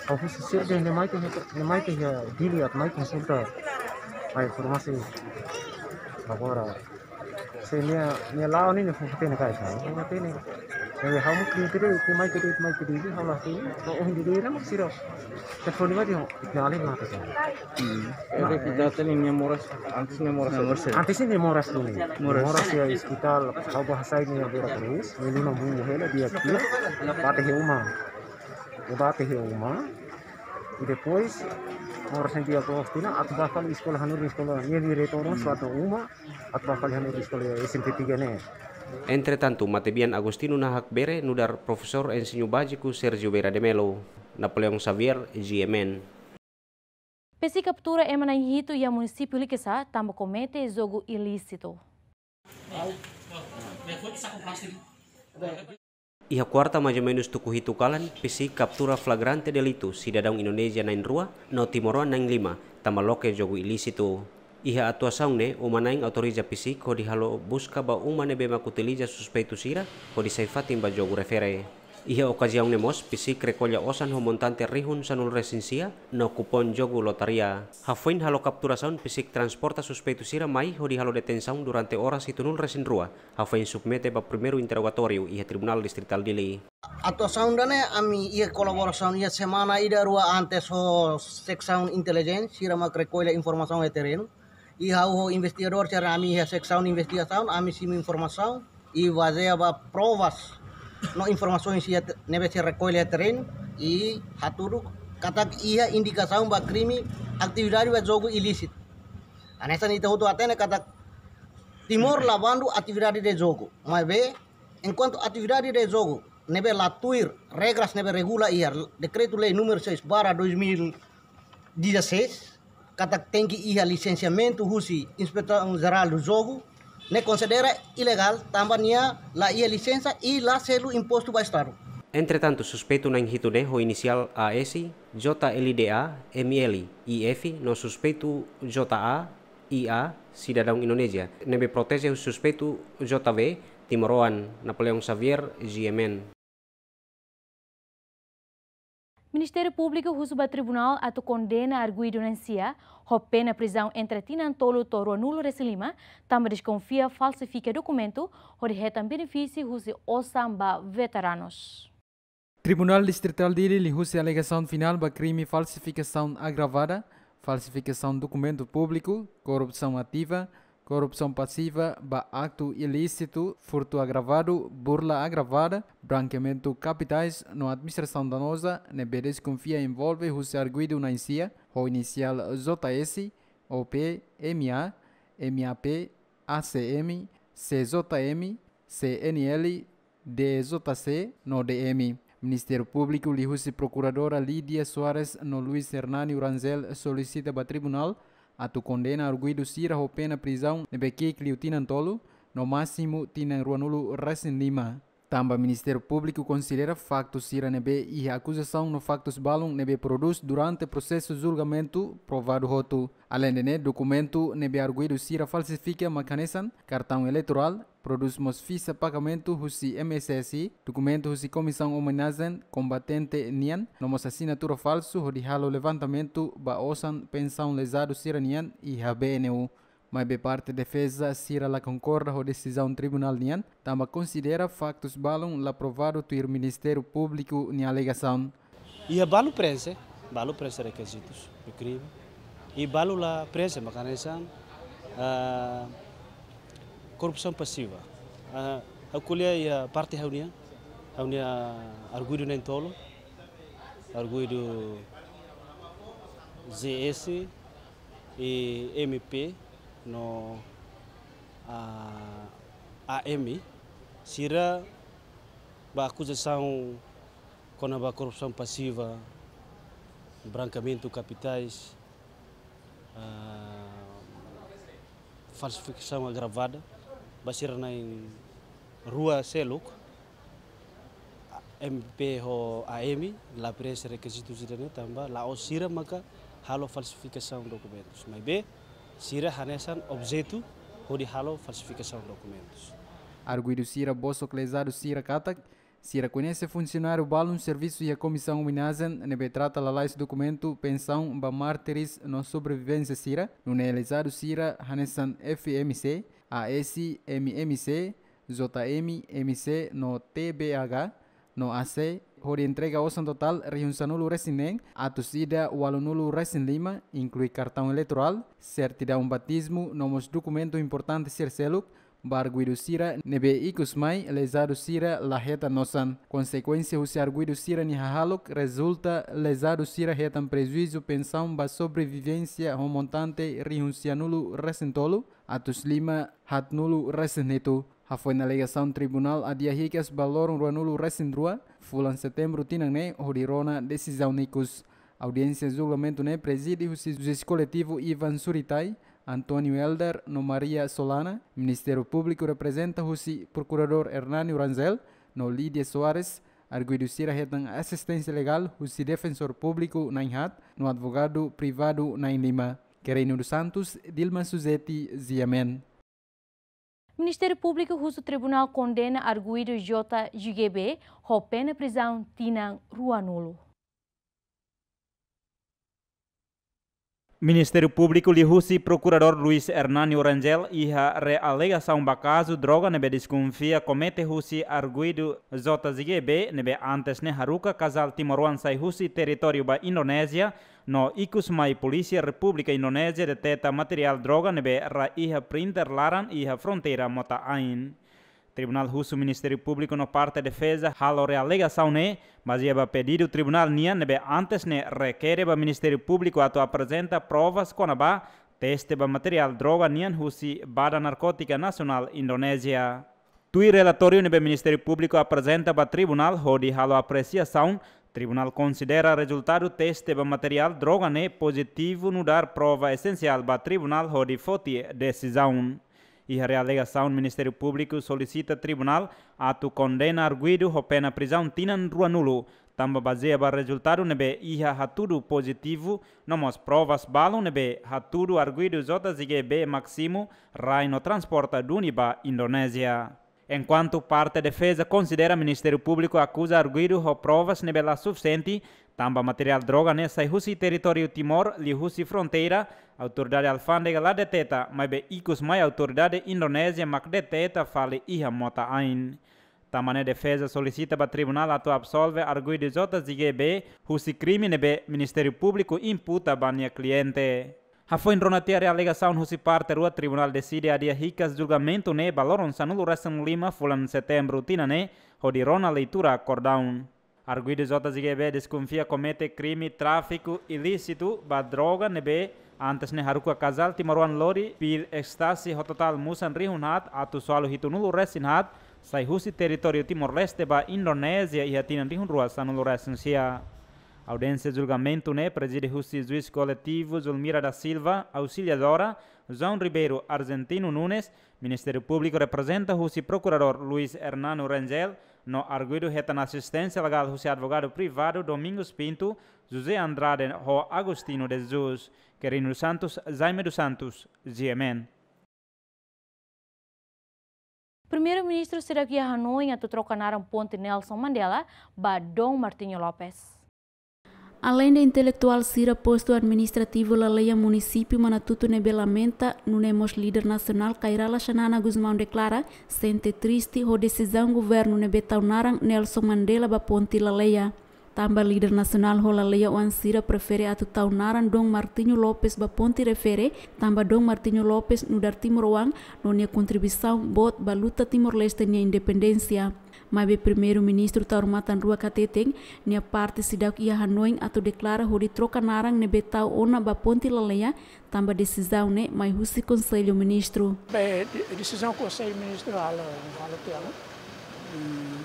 Ha'u husi sira dehan ne'e mai to'o, ne'e mai to'o iha Dili atu mai konsulta. Mai informasi. Agora, se nia, nia la'o ne'e, nia fó-hatene karik, fó-hatene. Ne'ebé ha'u mós kri kri, ke mai kri, mai kri, ha'u la hatene. Ha'u ohin de'it, de'it, mak sira. Telefone mai dehan, nia alin mate. Hmm. Ne'ebé ita hatene nia moras, antes nia moras. Nia moras. Antes nia moras duni. Moras. Moras iha ospitál, ha'u bá hasai nia Vera Cruz, nia luna bubu hela, dia kir, bate iha uma. Bate iha uma. I depois, moras ne'e dia Agostinho, atu bá fali eskola hanorin, eskola, nia diretór, Hmm. suatu uma, atu bá fali hanorin eskola S M T tiga ne'e. Entretantu, matebian Agostinho Nahak Bere nu'udar profesór ensinu báziku Sérgio Vieira de Mello. Napoleão Xavier, G M N. Pesi kaptura ema na'in hitu iha munisípiu Likisá tanba komete jogu ilísitu. Iha kuarta, maizumenus tuku hitu kalan, Pesi kaptura flagrante delitu sidadaun Indonézia na'in rua no timoroan na'in lima tanba loke jogu ilísitu. Iha atuasaun ne'e, uma-na'in autoriza Pesi hodi halo buska ba uma ne'ebé mak utiliza suspeitu sira hodi sai fatin ba jogu refere. Iha okaziaun ne'e mós, PCIC rekolla osan ho montante rihun sanulu-resin-sia no kupon jogu lotaria. Hafoin halo kapturasaun, PCIC transporta suspeitu sira mai hodi halo detensaun durante oras hitunulu-resin-rua, hafoin submete ba primeiru interrogatóriu iha Tribunál Distritál Dili. Atuasaun ida-ne'e ami iha kolaborasaun iha semana ida rua antes ho seksaun intelijénsia, sira mak rekolla informasaun iha terrenu. I ha'u ho investigadór sira, ami iha seksaun investigasaun, ami simu informasaun i bazeia ba provas no informasaun sira te-, ne'ebé sira rekolla iha terrenu, i hatudu katak iha indikasaun ba krime atividade ba jogu ilísitu. Hanesan ita hotu hatene katak Timor la bandu atividade de jogu. Maibé, enkuantu atividade de jogu ne'ebé la tuir regras ne'ebé regula iha Dekretu-Lei númeru seis barra dois mil dezasseis, katak tenke iha lisensiamentu husi Inspesaun Jerál do Jogu, ne'e konsidera ilegál tanba nia la iha lisensa i la selu impostu ba Estadu. Entretantu, suspeitu na'in hitu ne'e ho inisiál A S, J L D A, M L, I F, no suspeitu J A, I A, sidadaun Indonézia, ne'ebé proteje husi suspeitu J V, timoroan Napoleão Xavier, G M N. Ministériu Públiku husu ba tribunál atu kondena arguidu na'in sia ho pena prizaun entre tinan tolu to'o ruanulu-resin-lima, tanba deskonfia falsifika dokumentu hodi hetan benefísiu husi osan ba veteranus. Tribunál Distritál Dili liuhusi alegasaun finál ba krime falsifikasaun agravada, falsifikasaun dokumentu públiku, korrupsaun ativa, korrupsaun pasiva ba aktu ilísitu, furtu agravadu, burla agravada, brankeamentu kapitais no administrasaun danoza, ne'ebé deskonfia envolve husi arguidu na'in sia, ho inisiál J S, O P, M A, M A P, A C M, C J M, C N L, D J C no D M. Ministériu Públiku liuhusi Prokuradora Lídia Soares no Luís Hernani Rangel solisita ba tribunál atu kondena arguidu sira ho pena prizaun ne'ebé ki'ik liu tinan tolu, no másimu tinan ruanulu-resin-lima. Tanba Ministériu Públiku konsidera faktu sira ne'ebé iha akuzasaun no faktus balun ne'ebé prodús durante prosesu julgamentu provadu hotu. Aleinde ne'e, dokumentu ne'ebé arguidu sira falsifika mak hanesan kartaun eleitorál, prodús mós fixa pagamentu husi M S S I, dokumentu husi Komisaun Omenajen Kombatente nian, no mós asinatura falsu hodi halo levantamentu ba osan pensaun lezadu sira-nian iha B N U. Maibé parte defeza sira la konkorda ho desizaun tribunál nian, tanba konsidera faktus balun la provadu tuir Ministériu Públiku nia alegasaun. Iha balu preenxe, balu preenxe rekizitus, eu creio. I balu la preenxe, mak hanesan, ah, korrupsaun pasiva. Ah, ha'u ko'alia iha parte ha'u-nian, ha'u-nia arguidu na'in tolu, arguidu J S, i M P no, ah, A M, sira ba akuzasaun kona-ba korrupsaun pasiva, brankeamentu kapitais, ah, falsifikasaun agravada, ba sira na'in rua seluk, M P ho A M, la preenxe rekizitus ida-ne'e tanba la'ós sira maka halo falsifikasaun dokumentus. Maibé, sira hanesan objetu hodi halo falsifikasaun dokumentus. Arguidu sira bosok lezadu sira katak, sira koñese funsionáriu balun servisu iha Komisaun Omenajen ne'ebé trata lalais dokumentu pensaun ba mártires no sobrevivénsia sira, nune'e lezadu sira hanesan F M C, A S, M M C, J M, M C no T B A H, no A C, hodi entrega osan totál rihun sanulu-resin-neen, atus ida ualunulu-resin-lima, inklui kartaun eleitorál, sertidaun batizmu, no mós dokumentu importante sira seluk, ba arguidu sira ne'ebé ikus mai lezadu sira la hetan osan. Konsekuénsia husi arguidu sira-nia hahalok rezulta lezadu sira hetan prejuízu pensaun ba sobrevivénsia ho montante rihun sianulu-resin-tolu, atus lima haatnulu-resin-hitu. Hafoin alegasaun, tribunál adia hikas ba loron ruanulu-resin-rua, fulan setembru tinan ne'e, hodi rona desizaun ikus. Audiénsia julgamentu ne'e prezide husi juís koletivu Ivan Suritai, António Helder no Maria Solana. Ministériu Públiku reprezenta husi Prokuradór Hernani Rangel no Lídia Soares. Arguidu sira hetan asisténsia legál husi Defensór Públiku na'in haat no advogadu privadu na'in lima. Querino dos Santos, Dilma Suzeti, G M N. Ministériu Públiku husu Tribunál kondena arguidu J G B ho pena prizaun tinan ruanulu. Ministériu Públiku liuhusi Prokuradór Luis Hernani Rangel iha realegasaun ba kazu droga ne'ebé deskonfia komete husi arguidu J G B ne'ebé antes ne'e haruka kazál timoroan sai husi territóriu ba Indonézia, no ikus mai Polísia Repúblika Indonézia deteta materiál droga ne'ebé rai iha printer laran iha fronteira mota-ain. Tribunál husu Ministériu Públiku no parte defeza halo realegasaun ne'e bazeia ba pedidu tribunál nian ne'ebé antes ne'e rekere ba Ministériu Públiku atu aprezenta provas kona-ba teste ba materiál droga nian husi Badan Narkótika Nasionál Indonézia. Tuir relatóriu ne'ebé Ministériu Públiku aprezenta ba tribunál hodi halo apresiasaun, tribunál konsidera rezultadu teste ba materiál droga ne'e pozitivu nu'udar prova esensiál ba tribunál hodi foti desizaun. Iha realegasaun Ministériu Públiku solisita tribunál atu kondena arguidu ho pena prizaun tinan ruanulu, tanba bazeia ba rezultadu ne'ebé iha hatudu pozitivu, no mós provas balun ne'ebé hatudu arguidu J G B mak simu, rai no transporta duni ba Indonézia. Enkuantu parte defeza konsidera Ministériu Públiku akuza arguidu ho provas ne'ebé la sufisiente, tanba materiál droga ne'e sai husi territóriu Timor, liuhusi fronteira, autoridade alfándega la deteta, maibé ikus mai autoridade Indonézia mak deteta fali iha mota-ain. Tanba ne'e defeza solisita ba tribunál atu absolve arguidu J G B husi krime ne'ebé Ministériu Públiku imputa ba nia kliente. Hafoin rona tiha realegasaun husi parte rua, tribunál deside adia hikas julgamentu ne'e ba loron sanulu-resin-lima fulan Setembru tinan ne'e, hodi rona leitura akordaun. Arguidu J G B deskonfia komete krime tráfiku ilísitu ba droga ne'ebé antes ne'e haruka kazál timoroan lori pil ekstasi ho totál musan rihun haat atus ualu hitunulu-resin-haat, sai husi territóriu Timor-Leste ba Indonézia iha tinan rihun rua sanulu-resin-sia. Audiénsia julgamentu ne'e prezide husi juís koletivu Zulmira da Silva, ausiliadora, João Ribeiro Argentino Nunes, Ministériu Públiku reprezenta husi Prokuradór Luis Hernani Rangel, no arguidu hetan asisténsia legál husi advogadu privadu Domingos Pinto, José Andrade ho Agostinho de Jesus. Quirino dos Santos, Jaime dos Santos, G M N. Primeiru-Ministru seidauk iha hanoin atu troka naran Ponte Nelson Mandela ba Dom Martinho Lopes. Aleinde intelektuál sira, postu administrativu Laleia, munisípiu Manatutu ne'ebé lamenta, nune'e mós líder nasionál Kay Rala Xanana Gusmão deklara sente triste ho desizaun governu ne'ebé tau naran Nelson Mandela ba Ponte Laleia. Tanba líder nasionál ho laleia-oan sira prefere atu tau naran Dom Martinho Lopes ba ponte refere, tanba Dom Martinho Lopes nu'udar timoroan no nia kontribuisaun boot ba luta Timor-Leste nia independénsia. Maibé Primeiru-Ministru Taur Matan Ruak hateten, nia parte seidauk iha hanoin atu deklara hodi troka naran ne'ebé tau ona ba Ponte Laleia, tanba desizaun ne'e mai husi Konsellu Ministru. Be, de-, desizaun Konsellu Ministru halo, halo tiha ona. Hmm,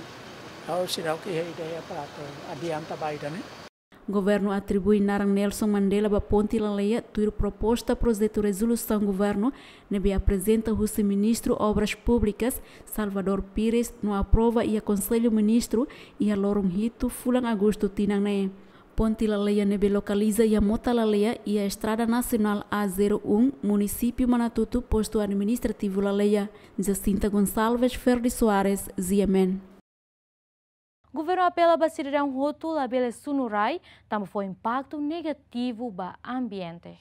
ha'u seidauk iha ideia para atu adianta ba ida-ne'e. Governu atribui naran Nelson Mandela ba Ponte Laleia tuir proposta projetu rezolusaun governu ne'ebé aprezenta husi Ministru Obras Públikas, Salvador Pires, no aprova iha Konsellu Ministru iha loron hitu fulan Agostu tinan ne'e. Ponte Laleia ne'ebé lokaliza iha Mota Laleia, iha Estrada Nasionál A zero um, Munisípiu Manatutu, Postu Administrativu Laleia. Jacinta Gonçalves, Ferdi Soares, G M N. Governu apela ba sidadaun hotu labele sunu rai, tanba fó impaktu negativu ba ambiente.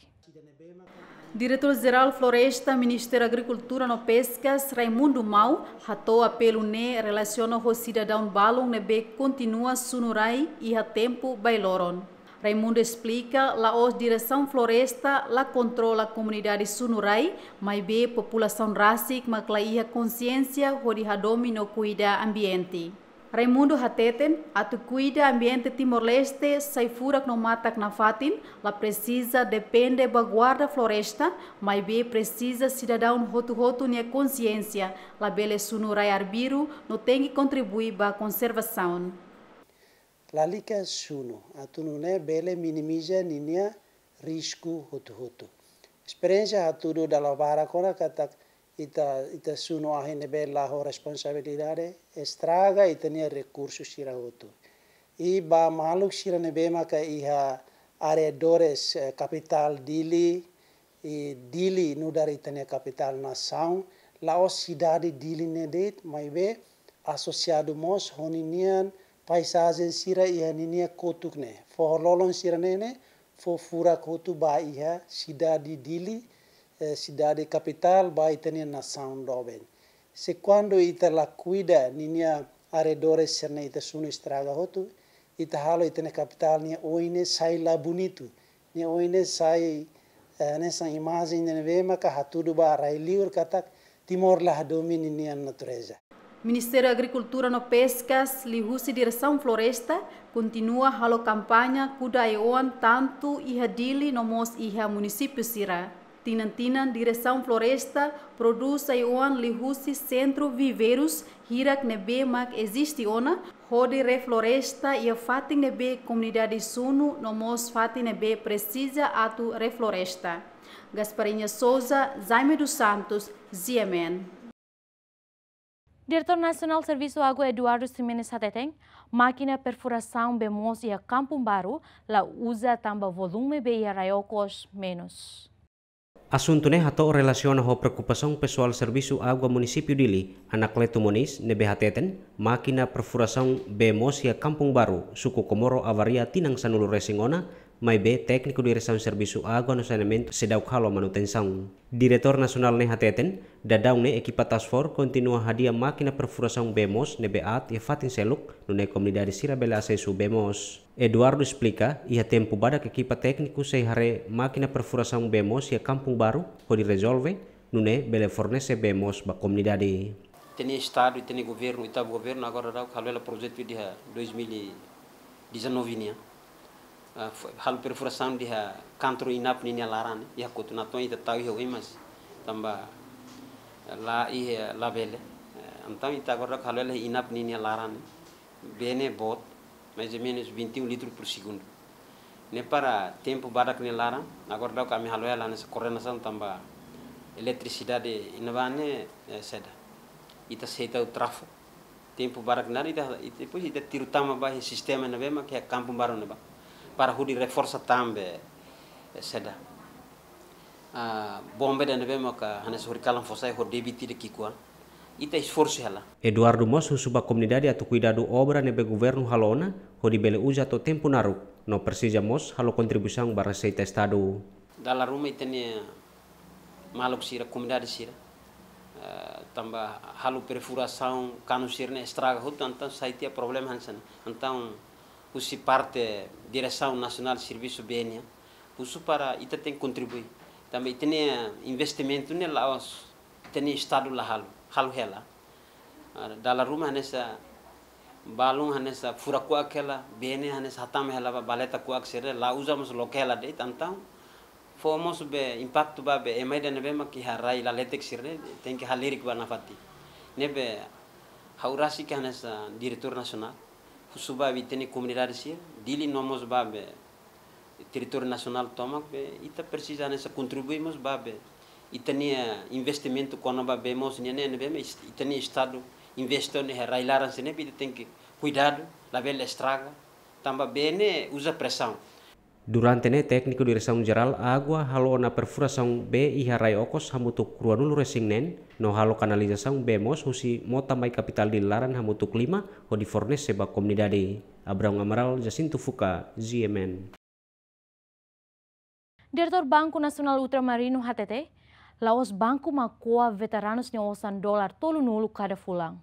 Diretór Jerál Floresta, Ministériu Agrikultura no Peskas, Raimundo Mau, hato'o apelu ne'e relasiona ho sidadaun balun ne'ebé kontinua sunu rai iha tempu bailoron. Raimundo esplika, la'ós Diresaun Floresta la kontrola komunidade sunu rai, maibé populasaun rasik mak la iha konsiénsia hodi hadomi no kuida ambiente. Raimundo hateten, atu kuida ambiente Timor-Leste, sai furak no matak nafatin, la presiza depende ba guarda floresta, maibé presiza sidadaun hotu-hotu nia konsiénsia, labele sunu rai arbiru, no tenke kontribui ba konservasaun. Lalika sunu, atu nune'e bele minimiza ninia risku hotu-hotu. Esperiénsia hatudu dala barak ona katak ita, ita sunu ahi ne'ebé la ho responsabilidade, estraga ita-nia rekursu sira hotu. I ba maluk sira ne'ebé maka iha arredores, eh, kapitál Dili, i Dili nu'udar ita-nia kapitál nasaun, La'ós sidade Dili ne'e de'it, maibé asosiadu mós ho ninian paizajen sira iha ninia kotuk ne'e. Foho-lolon sira-ne'e ne'e fó furak hotu ba iha sidade Dili, eh, sidade kapitál ba ita-nia nasaun doben. Se kuandu ita la kuida ninia arredores sira-ne'e, ita sunu estraga hotu, ita halo ita-nia kapitál nia oin ne'e sai la bonitu. Nia oin ne'e sai, eh, hanesan imajen ne'ebé maka hatudu ba rai-liur katak Timor la hadomi ninia natureza. Ministériu Agrikultura no Peskas liuhusi Diresaun Floresta kontinua halo kampaña kuda ai-oan tantu iha Dili no mós iha munisípiu sira. Tinan-tinan Diresaun Floresta prodús ai-oan liuhusi sentru viveirus hirak ne'ebé mak eziste ona, hodi refloresta iha fatin ne'ebé komunidade sunu no mós fatin ne'ebé presiza atu refloresta. Gasparinha Souza, Jaime dos Santos, G M N. Diretór Nasionál Servisu Água Eduardo Ximenes hateten, mákina perfurasaun bee moos iha Kampung Baru la uza tanba volume bee iha rai okos menus. Asuntu ne'e hato'o relasiona ho preokupasaun pesoál Servisu Água Munisípiu Dili, Anacleto Moniz, ne'ebé hateten, mákina perfurasaun bee moos iha Kampung Baru, suku Comoro avaria tinan sanulu-resin ona, maibé tékniku Diresaun Servisu Água no Saneamentu seidauk halo manutensaun. Diretór Nasionál ne'e hateten, daudaun ne'e ekipa Task Force kontinua hadi'a mákina perfurasaun bee moos ne'ebé aat iha fatin seluk, nune'e komunidade sira bele asesu bee moos. Eduardo esplika, iha tempu badak ekipa tékniku sei haree mákina perfurasaun bee moos iha Kampung Baru, hodi rezolve, nune'e bele fornese bee moos ba komunidade. Ita-nia estadu, ita-nia governu, ita-boot governu agora daudaun halo hela projetu iha dois mil e dezanove nian. Ah, fo-, halo perfurasaun iha kantoru INAP ninia laran, iha Kotu Natoin ita tau iha oin mas tanba, eh, la iha labele. Eh, entaun ita agora daudaun halo hela INAP ninia laran, bee ne'e boot, mais ou menos vinte e um litros por segundo. Ne'e para tempu badak nia laran, agora daudaun ami halo hela hanesan koordenasaun tanba eletrisidade iha ne'ebá ne'e, eh, seda. Ita sei tau trafu. Tempu badak nia laran ita, ita, depois ita tiru tama ba iha sistema ne'ebé mak iha Kampung Baru ne'ebá. Para hodi reforsa tan be, eh, seda. Ah, bomba ida ne'ebé maka hanesan horikalan fó sai ho debit ida ki'ikoan. Ita esforsu hela. Eduardo mós husu ba komunidade atu kuidadu obra ne'ebé governu halo ona, hodi bele uza to'o tempu naruk, no presiza mós halo kontribuisaun ba reseita estadu. Dala ruma ita-nia maluk sira, komunidade sira, eh, tanba halo perfurasaun, kanu sira-ne'e estraga hotu, entaun sai tiha problema hanesan ne'e. Entaun husi parte Diresaun Nasionál Servisu Bee nian, husu para ita tenke kontribui. Tanba ita-nia investimentu ne'e la'ós ita-nia estadu la halo, halo hela. Ah, dala ruma hanesan balun hanesan fura kuak hela, bee ne'e hanesan hatama hela ba baleta kuak sira-ne'e, la uza mós loke hela de'it, entaun fó mós be impaktu ba be ema ida ne'ebé mak iha rai laletek sira-ne'e, tenke halerik ba nafatin. Ne'ebé ha'u rasik hanesan Diretór Nasionál, husu ba ita-nia komunidade sira, Dili no mós ba be territóriu nasionál tomak be, ita presiza hanesan kontribui mós ba be ita-nia investimentu kona-ba bee moos nian ne'e, ne'ebé mak ita-nia estadu investe ona iha rai laran sira-ne'e, ita tenke kuidadu, labele estraga, tanba bee ne'e uza presaun. Durante ne'e tékniku Diresaun Jerál Água halo ona perfurasaun bee iha rai okos hamutuk ruanulu-resin-neen, no halo kanalizasaun bee moos husi mota mai kapitál Dili laran hamutuk lima, hodi fornese ba komunidade. Abraão Amaral, Jacinto Fuca, G M N. Diretór Banku Nasionál Ultramarinu hateten, la'ós banku mak ko'a veteranus nia osan dolar tolunulu kada fulan.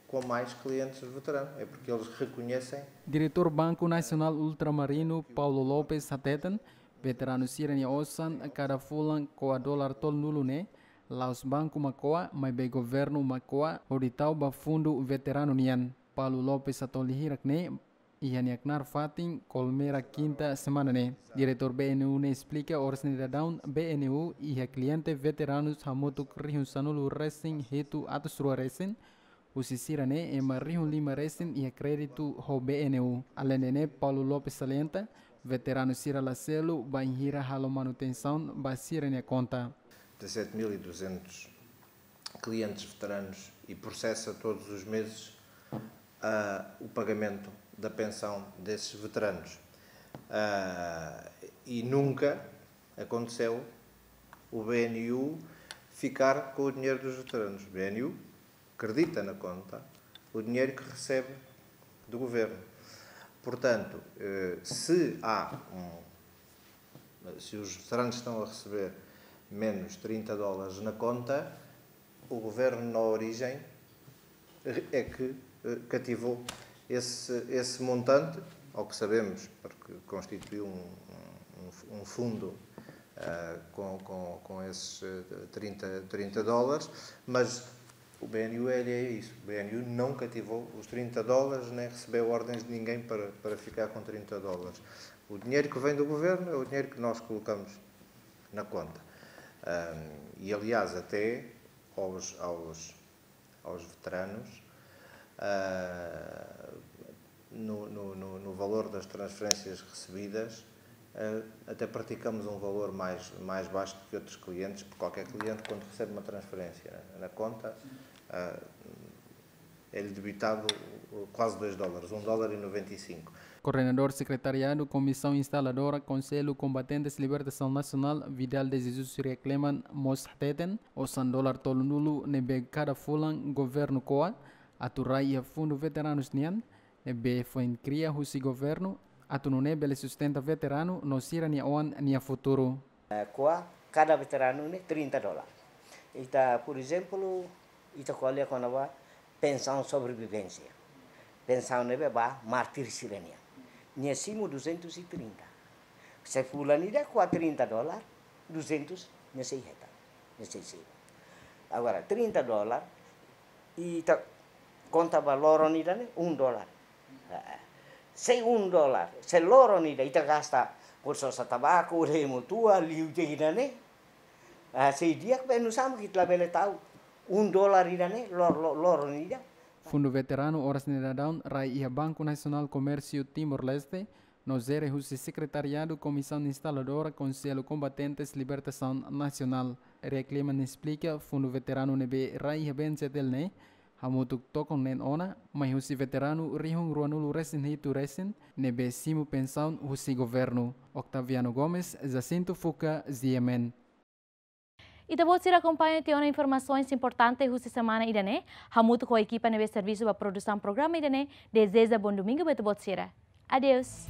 Com mais clientes veteranos, é porque eles reconhecem. Diretór Banku Nasionál Ultramarinu, Paulo Lopes, hateten, veteranu sira-nia osan kada fulan ko'a dolar tolunulu ne'e, la'ós banku mak ko'a, maibé governu mak ko'a, hodi tau ba fundu veteranu nian. Paulo Lopes hato'o hirak ne'e iha nia knaar fatin Kolmera, kinta semana ne'e. Diretór B N U ne'e esplika oras ne'e daudaun B N U iha kliente veteranus hamutuk rihun sanulu-resin-hitu atus rua resin, husi sira-ne'e ema rihun lima resin iha kréditu ho B N U. Aleinde ne'e, Paulo Lopes salienta, veteranu sira la selu bainhira halo manutensaun ba sira-nia konta. Dezassete mil e duzentos clientes veteranos e processa todos os meses, ah, o pagamento da pensão desses veteranos. Ah, e nunca aconteceu o B N U ficar com o dinheiro dos veteranos. O B N U acredita na conta o dinheiro que recebe do governo. Portanto, eh, se há um, se os veteranos estão a receber menos trinta dólares na conta, o governo, na origem, é que, eh, cativou esse, esse montante, ao que sabemos, porque constituiu um, um, um fundo, ah, com, com, com esses, eh, trinta, trinta dólares, mas o B N U, ele é isso. O B N U não cativou os trinta dólares, nem recebeu ordens de ninguém para, para ficar com trinta dólares. O dinheiro que vem do governo é o dinheiro que nós colocamos na conta. Ahm, e, aliás, até aos, aos, aos veteranos, ah, no, no, no, no valor das transferências recebidas, ah, até praticamos um valor mais, mais baixo do que outros clientes, porque qualquer cliente, quando recebe uma transferência na conta, ah, é-lhe debitado quase dois dólares, um dólar e noventa e cinco. Koordenadór Sekretariadu Komisaun Instaladora Konsellu Kombatentes Libertasaun Nasionál, Vidal de Jesus Riakleman, mós hateten, osan dolar tolunulu ne'ebé kada fulan governu ko'a atu rai iha fundu veteranus nian, ne'ebé foin kria husi governu atu nune'e bele sustenta veteranu no sira-nia oan nia futuru. Eh, ko'a kada veteranu ne'e trinta dólar. Ita, por ezemplu, ita ko'alia kona-ba pensaun sobrevivénsia. Pensaun ne'ebé ba mártir sira-nian. Nia simu duzentos e trinta. Se fulan ida ko'a trinta dólar, duzentos nia sei hetan, nia sei simu. Agora, trinta dólar, ita konta ba loron ida ne'e, um dólar. Eh, se um dólar, se loron ida ita gasta, por sosa tabaku, remu tua, liu je ida ne'e. Ah, sei di'ak be nusá mak ita labele tau um dólar ida ne'e, lor-, lor-, loron ida. Fundu veteranu oras ne'e daudaun rai iha Banku Nasionál Komérsiu Timor-Leste, no jere husi Sekretariadu Komisaun Instaladora Konsellu Kombatentes Libertasaun Nasionál. Riakleman esplika, fundu veteranu ne'ebé rai iha B N Z L ne'e hamutuk tokon neen ona, mai husi veteranu rihun ruanulu resin hitu resin ne'ebé simu pensaun husi governu. Octaviano Gomes, Jacinto Fuca, G M N. Ita-boot sira akompaña tiha ona informasaun importante husi semana ida-ne'e, hamutuk ho ekipa ne'ebé servisu ba produsaun programa ida-ne'e, dezeja bom domingo ba ita-boot sira. Adeus.